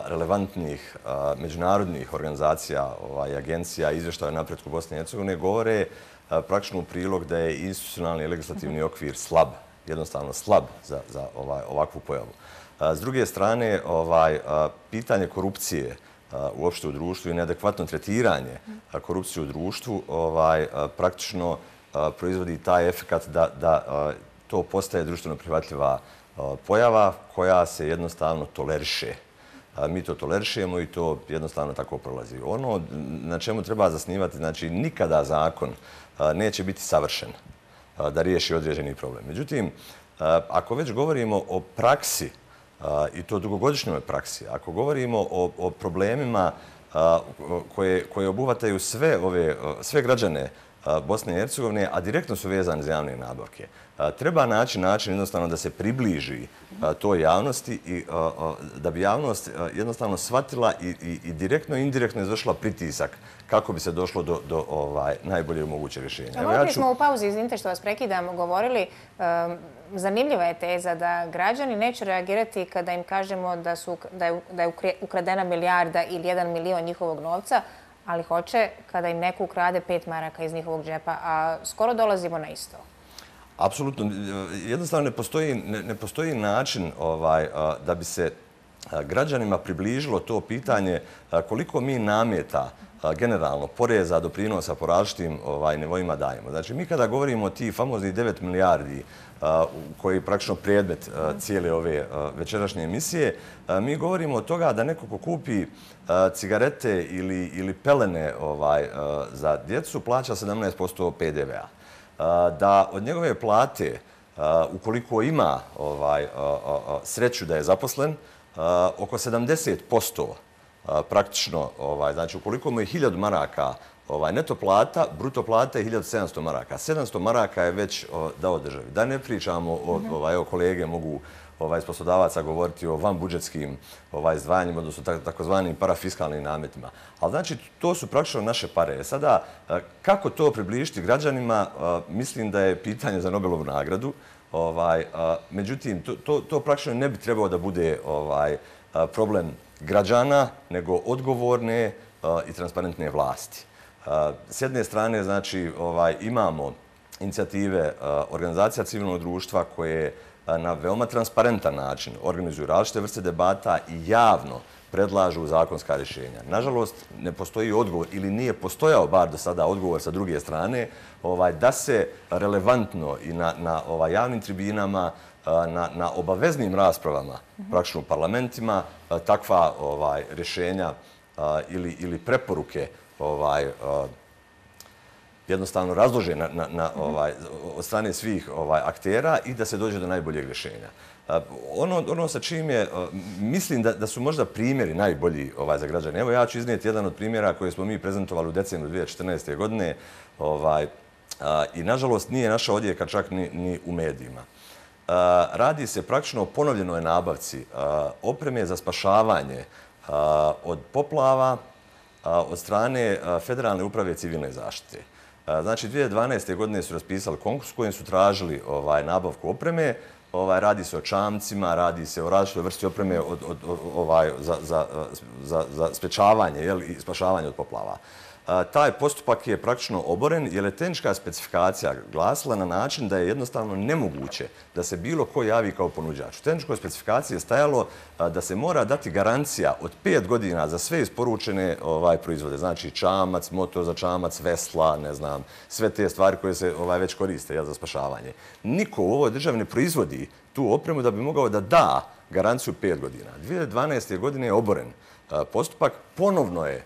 relevantnih međunarodnih organizacija i agencija, izveštaje o napretku Bosne i Hercegovine, govore praktično u prilog da je institucionalni i legislativni okvir slab, jednostavno slab za ovakvu pojavu. S druge strane, pitanje korupcije uopšte u društvu i neadekvatno tretiranje korupcije u društvu praktično proizvodi taj efekt da to postaje društveno prihvatljiva pojava koja se jednostavno toleriše. mi to tolerišemo i to jednostavno tako prolazi. Ono na čemu treba zasnivati, znači nikada zakon neće biti savršen da riješi određeni problem. Međutim, ako već govorimo o praksi, i to dugogodišnjoj praksi, ako govorimo o, o problemima koje, koje obuhvataju sve, ove, sve građane Bosne i Hercegovine, a direktno su vezani za javne nabavke, treba naći način jednostavno da se približi toj javnosti i da bi javnost jednostavno shvatila i, i, i direktno i indirektno izvršila pritisak kako bi se došlo do, do ovaj, najbolje moguće rješenja. Evo, ja ću... smo u pauzi, izvinite što vas prekidam, govorili, um, zanimljiva je teza da građani neće reagirati kada im kažemo da, su, da, je, da je ukradena milijarda ili jedan milion njihovog novca, ali hoće kada im neko ukrade pet maraka iz njihovog džepa, a skoro dolazimo na isto. Apsolutno. Jednostavno ne postoji, ne, ne postoji način ovaj, da bi se građanima približilo to pitanje koliko mi nameta generalno poreza, doprinosa po različitim ovaj, nivoima dajemo. Znači, mi kada govorimo o tih famoznih devet milijardi koji je praktično predmet cijele ove večerašnje emisije, mi govorimo o toga da neko ko kupi cigarete ili, ili pelene ovaj, za djecu plaća sedamnaest posto pe de ve a. Da od njegove plate, ukoliko ima ovaj, sreću da je zaposlen, oko sedamdeset posto praktično, ovaj, znači ukoliko mu je hiljadu maraka ovaj, neto plata, bruto plata je hiljadu sedamsto maraka. sedamsto maraka je već o, dao državi. Da ne pričamo, o, ovaj, evo kolege mogu ovaj, iz poslodavaca govoriti o vanbudžetskim ovaj, izdvajanjima, odnosno takozvanim parafiskalnim nametima. Ali znači, to su praktično naše pare. Sada, kako to približiti građanima, mislim da je pitanje za Nobelovu nagradu. Ovaj, međutim, to, to, to praktično ne bi trebao da bude ovaj, problem građana, nego odgovorne i transparentne vlasti. S jedne strane, znači, ovaj, imamo inicijative organizacija civilnog društva koje na veoma transparentan način organizuju različite vrste debata i javno predlažu zakonska rješenja. Nažalost, ne postoji odgovor ili nije postojao bar do sada odgovor sa druge strane ovaj, da se relevantno i na, na ovaj, javnim tribinama, na, na obaveznim raspravama, praktično u parlamentima, takva ovaj, rješenja ili, ili preporuke ovaj, jednostavno razlože na, na, na, ovaj, od strane svih ovaj, aktera i da se dođe do najboljeg rješenja. Ono, ono sa čim je, mislim da, da su možda primjeri najbolji ovaj, za građane. Evo ja ću iznijeti jedan od primjera koje smo mi prezentovali u decembru dvije tisuće četrnaeste. godine ovaj, a, i nažalost nije naša odjeka čak ni, ni u medijima. A, radi se praktično o ponovljenoj nabavci a, opreme za spašavanje a, od poplava a, od strane a, Federalne uprave civilne zaštite. Znači, dvije tisuće dvanaeste. godine su raspisali konkurs kojim su tražili ovaj, nabavku opreme. Ovaj, radi se o čamcima, radi se o različitoj vrsti opreme od, od, ovaj, za, za, za, za sprečavanje jel, i spašavanje od poplava. A, taj postupak je praktično oboren jer je tehnička specifikacija glasila na način da je jednostavno nemoguće da se bilo ko javi kao ponuđač. U tehničkoj specifikaciji je stajalo a, da se mora dati garancija od pet godina za sve isporučene ovaj, proizvode. Znači čamac, motor za čamac, vesla, ne znam, sve te stvari koje se ovaj, već koriste jel, za spašavanje. Niko u ovoj državi ne proizvodi tu opremu da bi mogao da da garanciju pet godina. dvije tisuće dvanaeste. godine je oboren a, postupak, ponovno je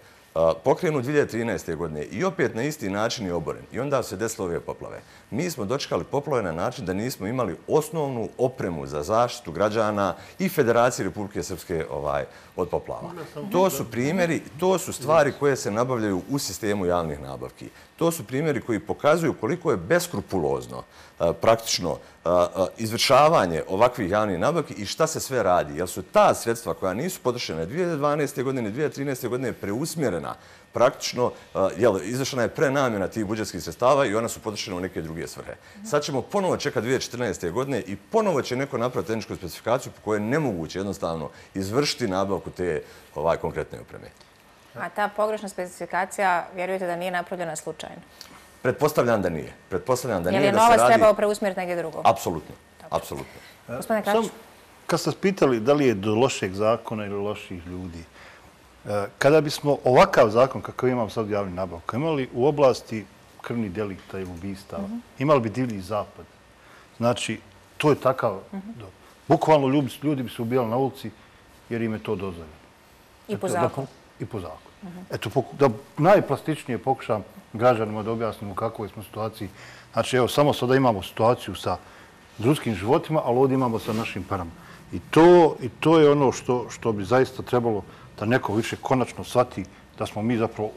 pokrenut dvije tisuće trinaeste. godine i opet na isti način je oboren. I onda se desilo ove poplave. Mi smo dočekali poplave na način da nismo imali osnovnu opremu za zaštitu građana i Federacije Republike Srpske ovaj, od poplava. To su primjeri, to su stvari koje se nabavljaju u sistemu javnih nabavki. To su primjeri koji pokazuju koliko je beskrupulozno praktično izvršavanje ovakvih javnih nabavki i šta se sve radi. Jer su ta sredstva koja nisu potrošene dvije tisuće dvanaeste. godine, dvije tisuće trinaeste. godine preusmjerena praktično, jel, izvršena je prenamjena tih budžetskih sredstava i ona su potrošena u neke druge svrhe. Sad ćemo ponovo čekati dvije tisuće četrnaeste. godine i ponovo će neko napraviti tehničku specifikaciju po kojoj je nemoguće jednostavno izvršiti nabavku te ovaj, konkretne opreme. A ta pogrešna specifikacija, vjerujete da nije napravljena slučajno? Pretpostavljam da nije. Pretpostavljam da nije. Je li novac trebao preusmjeriti negdje drugo? Apsolutno. Apsolutno. Gospodine Kračić? Kad ste pitali da li je do lošeg zakona ili loših ljudi, kada bismo ovakav zakon kakav imamo sad u javnim nabavkama imali u oblasti krvnih delikta ili ubistava, imali bi divlji zapad. Znači, to je takav... Bukvalno ljudi bi se ubijali na ulici jer im je to dozvoljeno. I po zakonu. I po zakonu. Eto, da najplastičnije pokušam građanima da objasnim u kakvoj smo situaciji. Znači, evo, samo sada imamo situaciju sa ljudskim životima, ali ovdje imamo sa našim parama. I to, i to je ono što, što bi zaista trebalo da neko više konačno shvati da smo mi zapravo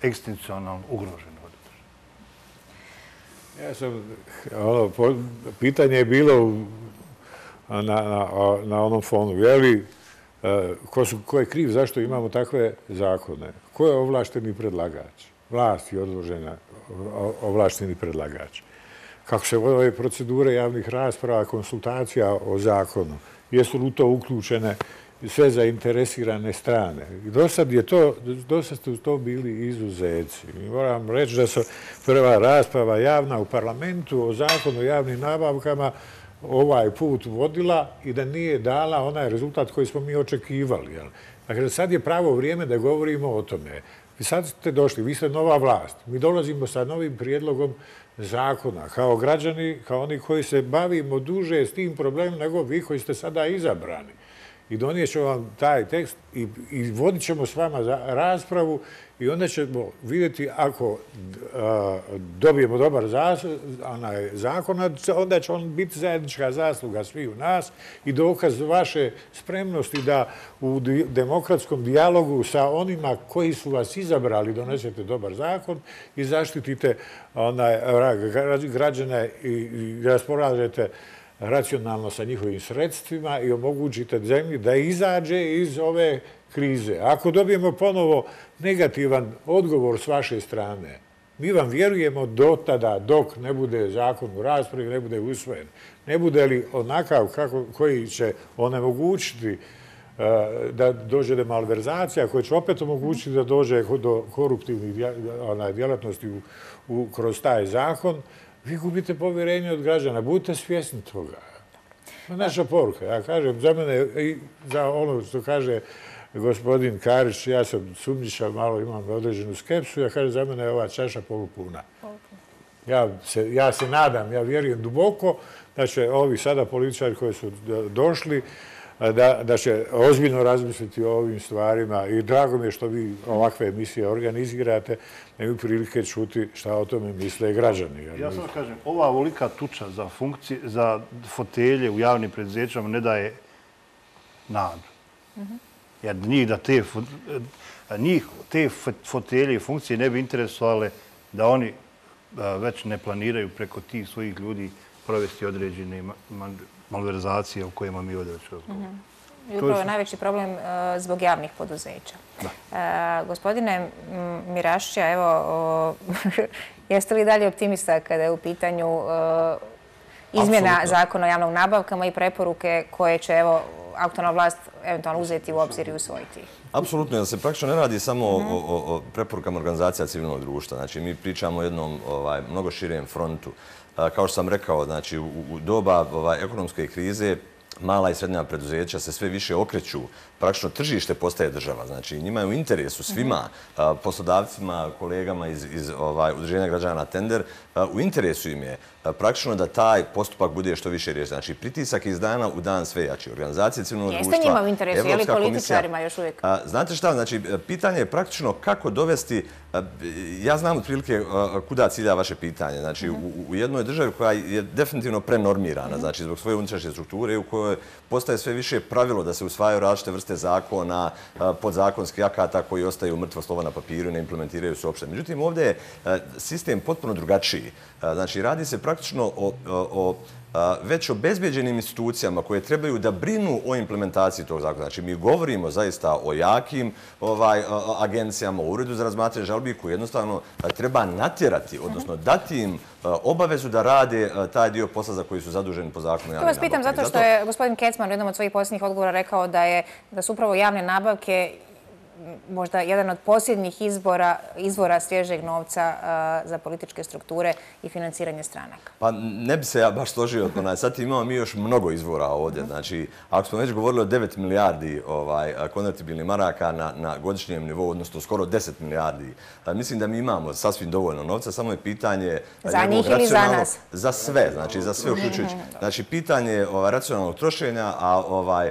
egzistencijalno ugroženi. Ja sam, ono, pitanje je bilo na, na, na onom fonu, je li, ko, su, ko je kriv, zašto imamo takve zakone? Ko je ovlašteni predlagač? Vlast je odložena ovlašteni predlagač. Kako se vode procedure javnih rasprava, konsultacija o zakonu? Jesu li u to uključene sve zainteresirane strane? I do sad je to, do sad su to bili izuzeci. Moram reći da su prva rasprava javna u parlamentu o zakonu o javnim nabavkama ovaj put vodila i da nije dala onaj rezultat koji smo mi očekivali. Dakle, sad je pravo vrijeme da govorimo o tome. Vi sad ste došli, vi ste nova vlast. Mi dolazimo sa novim prijedlogom zakona, kao građani, kao oni koji se bavimo duže s tim problemom nego vi koji ste sada izabrani. I donijet ćemo vam taj tekst i, i vodit ćemo s vama za raspravu i onda ćemo vidjeti ako a, dobijemo dobar zas, onaj zakon, onda će on biti zajednička zasluga svih u nas i dokaz vaše spremnosti da u di, demokratskom dijalogu sa onima koji su vas izabrali donesete dobar zakon i zaštitite onaj, građane i, i rasporađete racionalno sa njihovim sredstvima i omogućite zemlji da izađe iz ove krize. Ako dobijemo ponovo negativan odgovor s vaše strane, mi vam vjerujemo do tada dok ne bude zakon u raspravi, ne bude usvojen. Ne bude li onakav kako, koji će onemogućiti uh, da dođe do malverzacija, koji će opet omogućiti da dođe do koruptivnih djelatnosti u, u, kroz taj zakon, vi gubite povjerenje od građana. Budite svjesni toga. Naša poruka. Ja kažem, za mene i za ono što kaže gospodin Karić, ja sam sumnjičav, malo imam određenu skepsu, ja kažem, za mene je ova čaša polupuna. Ja se, ja se nadam, ja vjerujem duboko da će ovi sada političari koji su došli Da, da će ozbiljno razmisliti o ovim stvarima i drago mi je što vi ovakve emisije organizirate, da imaju prilike čuti šta o tome misle građani. Ja samo kažem, ova ovolika tuča za funkcije, za fotelje u javnim preduzećama ne daje nadu. Mm-hmm. Jer njih, da te, njih te fotelje i funkcije ne bi interesovale da oni već ne planiraju preko tih svojih ljudi provesti određene malverzacije o kojima mi ovdje već razgovaramo. I upravo je najveći problem uh, zbog javnih poduzeća. Uh, gospodine Mirašća, evo, uh, jeste li dalje optimista kada je u pitanju uh, izmjena Absolutno. Zakona o javnog nabavkama i preporuke koje će, evo, aktualna vlast eventualno uzeti u obzir i usvojiti? Apsolutno, jer se praktično ne radi samo mm-hmm. o, o, o preporukama organizacija civilnog društva. Znači, mi pričamo o jednom ovaj, mnogo širijem frontu. Kao što sam rekao, znači, u, u doba ovaj, ekonomske krize mala i srednja preduzeća se sve više okreću. Praktično tržište postaje država. Znači, njima je u interesu svima, mm-hmm. poslodavcima, kolegama iz, iz ovaj, udruženja građana Tender, u interesu im je praktično da taj postupak bude što više riješen. Znači, pritisak iz dana u dan sve jači. Organizacije civilnog društva, Jeste njima u interesu, je li političarima još uvijek? Znate šta, znači, pitanje je praktično kako dovesti, ja znam otprilike kuda cilja vaše pitanje. Znači, mm-hmm. u, u jednoj državi koja je definitivno prenormirana, mm-hmm. znači, zbog svoje unutrašnje strukture u kojoj postaje sve više pravilo da se usvajaju različite vrste zakona, podzakonskih akata koji ostaju mrtvo slovo na papiru i ne implementiraju se uopšte. Međutim, ovdje je sistem potpuno drugačiji. Znači, radi se praktično o, o, o već obezbeđenim institucijama koje trebaju da brinu o implementaciji tog zakona. Znači, mi govorimo zaista o jakim ovaj, agencijama, o uredu za razmatranje žalbi koji jednostavno treba natjerati, odnosno dati im obavezu da rade taj dio posla za koji su zaduženi po zakonu javne nabavke. To vas pitam zato što je gospodin Kecman u jednom od svojih posljednjih odgovora rekao da, je, da su upravo javne nabavke možda jedan od posljednjih izbora, izvora svježeg novca uh, za političke strukture i financiranje stranaka. Pa ne bi se ja baš složio. Sad imamo mi još mnogo izvora ovdje. Znači, ako smo već govorili o devet milijardi ovaj, konvertibilnih maraka na, na godišnjem nivou, odnosno skoro deset milijardi, mislim da mi imamo sasvim dovoljno novca, samo je pitanje... Za njih ili za nas? Za sve, znači za sve uključujući. Znači, pitanje ovaj, racionalnog trošenja, a ovaj,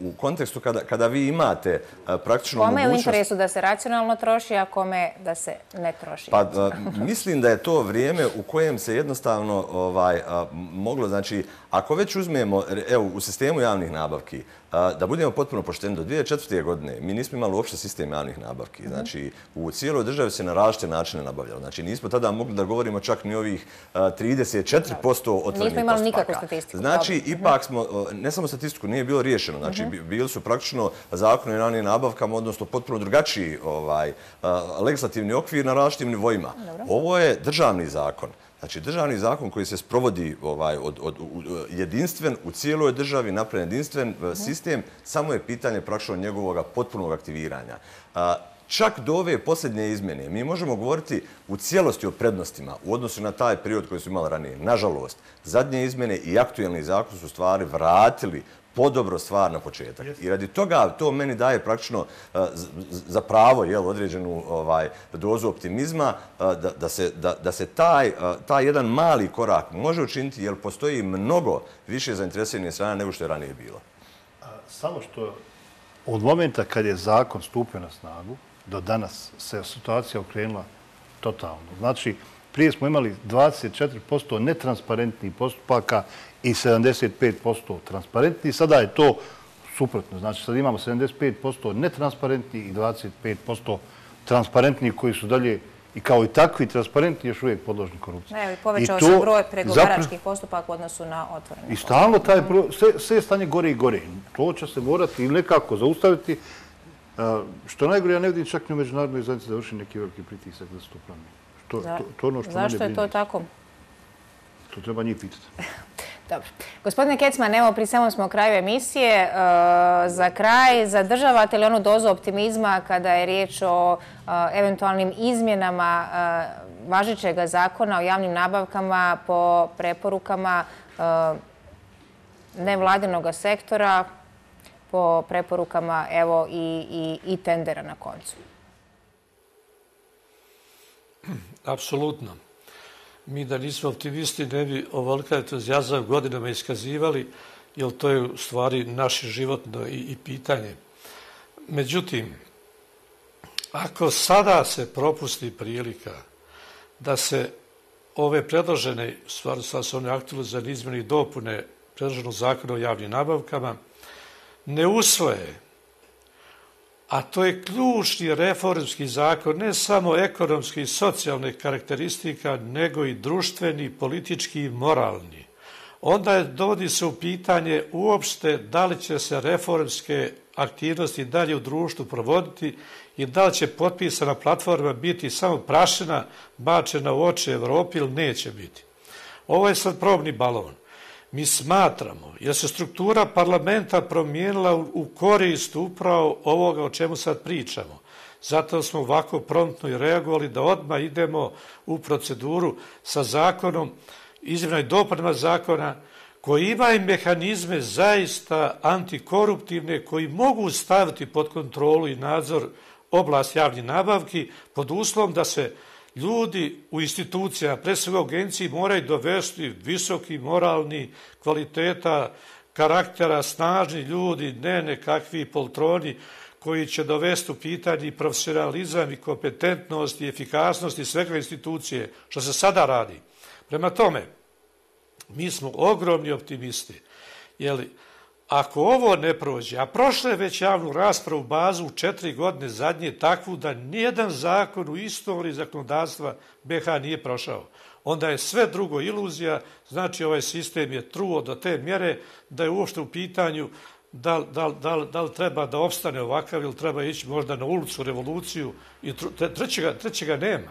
u kontekstu kada vi imate praktično mogućnost... Kome je u interesu da se racionalno troši, a kome da se ne troši? Pa mislim da je to vrijeme u kojem se jednostavno moglo, znači, ako već uzmemo, evo, u sistemu javnih nabavki, da budemo potpuno pošteni, do dvije hiljade četvrte. godine mi nismo imali uopšte sistem javnih nabavki. Znači, u cijeloj državi se na različite načine nabavljalo. Znači, nismo tada mogli da govorimo čak ni ovih trideset četiri posto otvorenih postupaka. Nismo imali nikakvu statistiku. Znači, ipak smo, ne samo statistiku, nije bilo riješeno. Znači, bili su praktično zakoni o javnim nabavkama, odnosno potpuno drugačiji legislativni okvir na različitim nivoima. Ovo je državni zakon. Znači, državni zakon koji se sprovodi jedinstven u cijeloj državi, napravljen jedinstven sistem, samo je pitanje praktično njegovog potpunog aktiviranja. Čak do ove posljednje izmjene mi možemo govoriti u cijelosti o prednostima u odnosu na taj period koji su imali ranije. Nažalost, zadnje izmjene i aktuelni zakon su stvari vratili podobro stvar na početak. I radi toga to meni daje praktično za pravo određenu dozu optimizma da se taj jedan mali korak može učiniti jer postoji mnogo više zainteresiranih strana nego što je ranije bilo. Samo što od momenta kad je zakon stupio na snagu do danas se situacija okrenula totalno. Znači, prije smo imali dvadeset četiri posto netransparentnih postupaka i sedamdeset pet posto transparentnih. Sada je to suprotno. Znači, sad imamo sedamdeset pet posto netransparentnih i dvadeset pet posto transparentnih koji su dalje i kao i takvi transparentni još uvijek podložni korupciji. Evo, i povećao se broj pregovaračkih postupaka u odnosu na otvorene. I stalno taj sve stanje gore i gore. To će se morati nekako zaustaviti. Što najgore, ja ne vidim čak ni u međunarodnoj zajednici da vrši neki veliki pritisak da se to promijeni. Zašto je to tako? To treba njih pitati. Dobro. Gospodine Kecman, evo, pri samom smo kraju emisije. Za kraj, zadržavate li onu dozu optimizma kada je riječ o eventualnim izmjenama važećeg zakona o javnim nabavkama po preporukama nevladinog sektora, po preporukama, evo, i tendera na koncu? Apsolutno. Mi da nismo optimisti ne bi ovolika entuzijazam godinama iskazivali, jer to je u stvari naše životno i pitanje. Međutim, ako sada se propusti prilika da se ove predložene, stvarno sad su one aktualizirane izmjene i dopune predloženog zakona o javnim nabavkama, ne usvoje, a to je ključni reformski zakon, ne samo ekonomski i socijalne karakteristika, nego i društveni, politički i moralni. Onda dovodi se u pitanje uopšte da li će se reformske aktivnosti dalje u društvu provoditi i da li će potpisana platforma biti samo prašina bačena u oči Evropi ili neće biti. Ovo je sad probni balon. Mi smatramo, jer se struktura parlamenta promijenila u korist upravo ovoga o čemu sad pričamo. Zato smo ovako promptno i reagovali da odmah idemo u proceduru sa zakonom, izmjenama i dopunama zakona, koji imaju mehanizme zaista antikoruptivne, koji mogu staviti pod kontrolu i nadzor oblast javnih nabavki pod uslovom da se ljudi u institucijama, pre svega u agenciji, moraju dovesti visoki moralni kvaliteta, karaktera, snažni ljudi, ne nekakvi poltroni koji će dovesti u pitanje i profesionalizam i kompetentnost i efikasnost i svega institucije, što se sada radi. Prema tome, mi smo ogromni optimisti, jer ako ovo ne prođe, a prošle je već javnu raspravu bazu u četiri godine zadnje takvu da nijedan zakon u istoriji zakonodavstva B iH nije prošao, onda je sve drugo iluzija, znači ovaj sistem je truo do te mjere da je uopšte u pitanju da, da, da, da li treba da opstane ovakav ili treba ići možda na ulicu, revoluciju i trećega, trećega nema.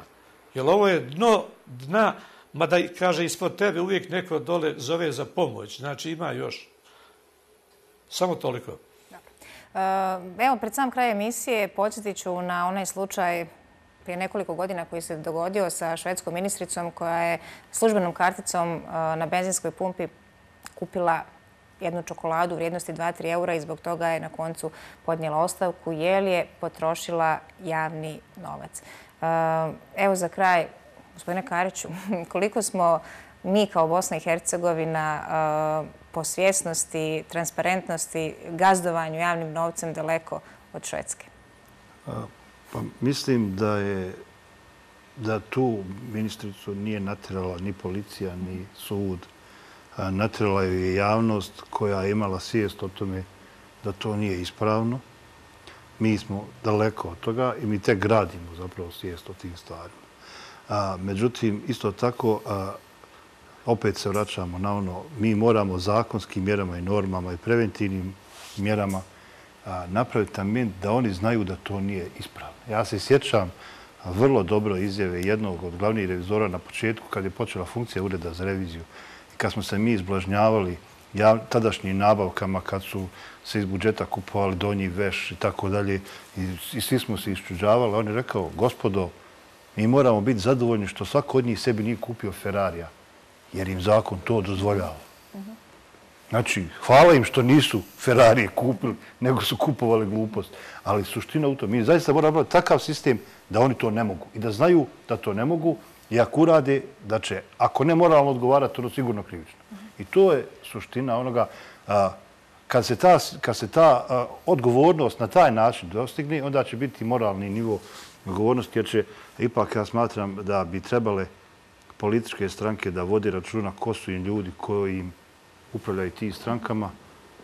Jer ovo je dno dna, mada kaže ispod tebe uvijek neko dole zove za pomoć, znači ima još. Samo toliko. Evo, pred sam kraj emisije podsjetit ću na onaj slučaj prije nekoliko godina koji se dogodio sa švedskom ministricom koja je službenom karticom na benzinskoj pumpi kupila jednu čokoladu u vrijednosti dva do tri eura i zbog toga je na koncu podnijela ostavku jer je potrošila javni novac. Evo za kraj, gospodine Kariću, koliko smo mi kao Bosna i Hercegovina po svjesnosti, transparentnosti, gazdovanju javnim novcem daleko od Švedske? Pa mislim da je da tu ministricu nije natjerala ni policija, ni sud. Natjerala je javnost koja je imala svijest o tome da to nije ispravno. Mi smo daleko od toga i mi tek gradimo zapravo svijest o tim stvarima. Međutim, isto tako, opet se vraćamo na ono, mi moramo zakonskim mjerama i normama i preventivnim mjerama napraviti ambijent da oni znaju da to nije ispravno. Ja se sjećam vrlo dobro izjave jednog od glavnih revizora na početku kad je počela funkcija Ureda za reviziju i kad smo se mi izblažnjavali tadašnjim nabavkama, kad su se iz budžeta kupovali donji veš i tako dalje i svi smo se iščuđavali. On je rekao, gospodo, mi moramo biti zadovoljni što svako od njih sebi nije kupio Ferrarija, jer im zakon to dozvoljava. Znači, hvala im što nisu Ferrarije kupili, nego su kupovali glupost. Ali suština u tom, mi zaista moramo imati takav sistem da oni to ne mogu i da znaju da to ne mogu i ako urade, da će, ako ne moralno odgovarati, ono sigurno krivično. I to je suština onoga, kad se ta, kad se ta odgovornost na taj način dostigne, onda će biti moralni nivo odgovornosti, jer će, ipak ja smatram da bi trebale političke stranke da vodi računa ko su im ljudi koji im upravljaju tim strankama,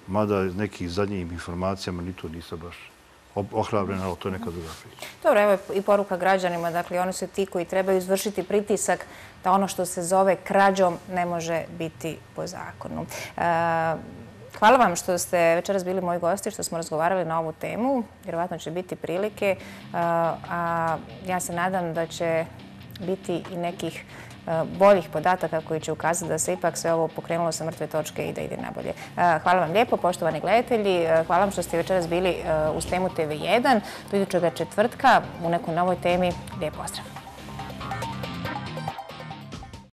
mada iz nekih zadnjih informacijama ni to nisam baš ohrabrena, ali to je neka druga priča. Dobro, evo i poruka građanima. Dakle, oni su ti koji trebaju izvršiti pritisak da ono što se zove krađom ne može biti po zakonu. Hvala vam što ste večeras bili moji gosti, što smo razgovarali na ovu temu. Vjerovatno će biti prilike, a ja se nadam da će biti i nekih boljih podataka koji će ukazati da se ipak sve ovo pokrenulo sa mrtve točke i da ide nabolje. Hvala vam lijepo, poštovani gledatelji. Hvala vam što ste večeras bili uz temu T V jedan. Do idućega četvrtka u nekoj novoj temi. Lijep pozdrav.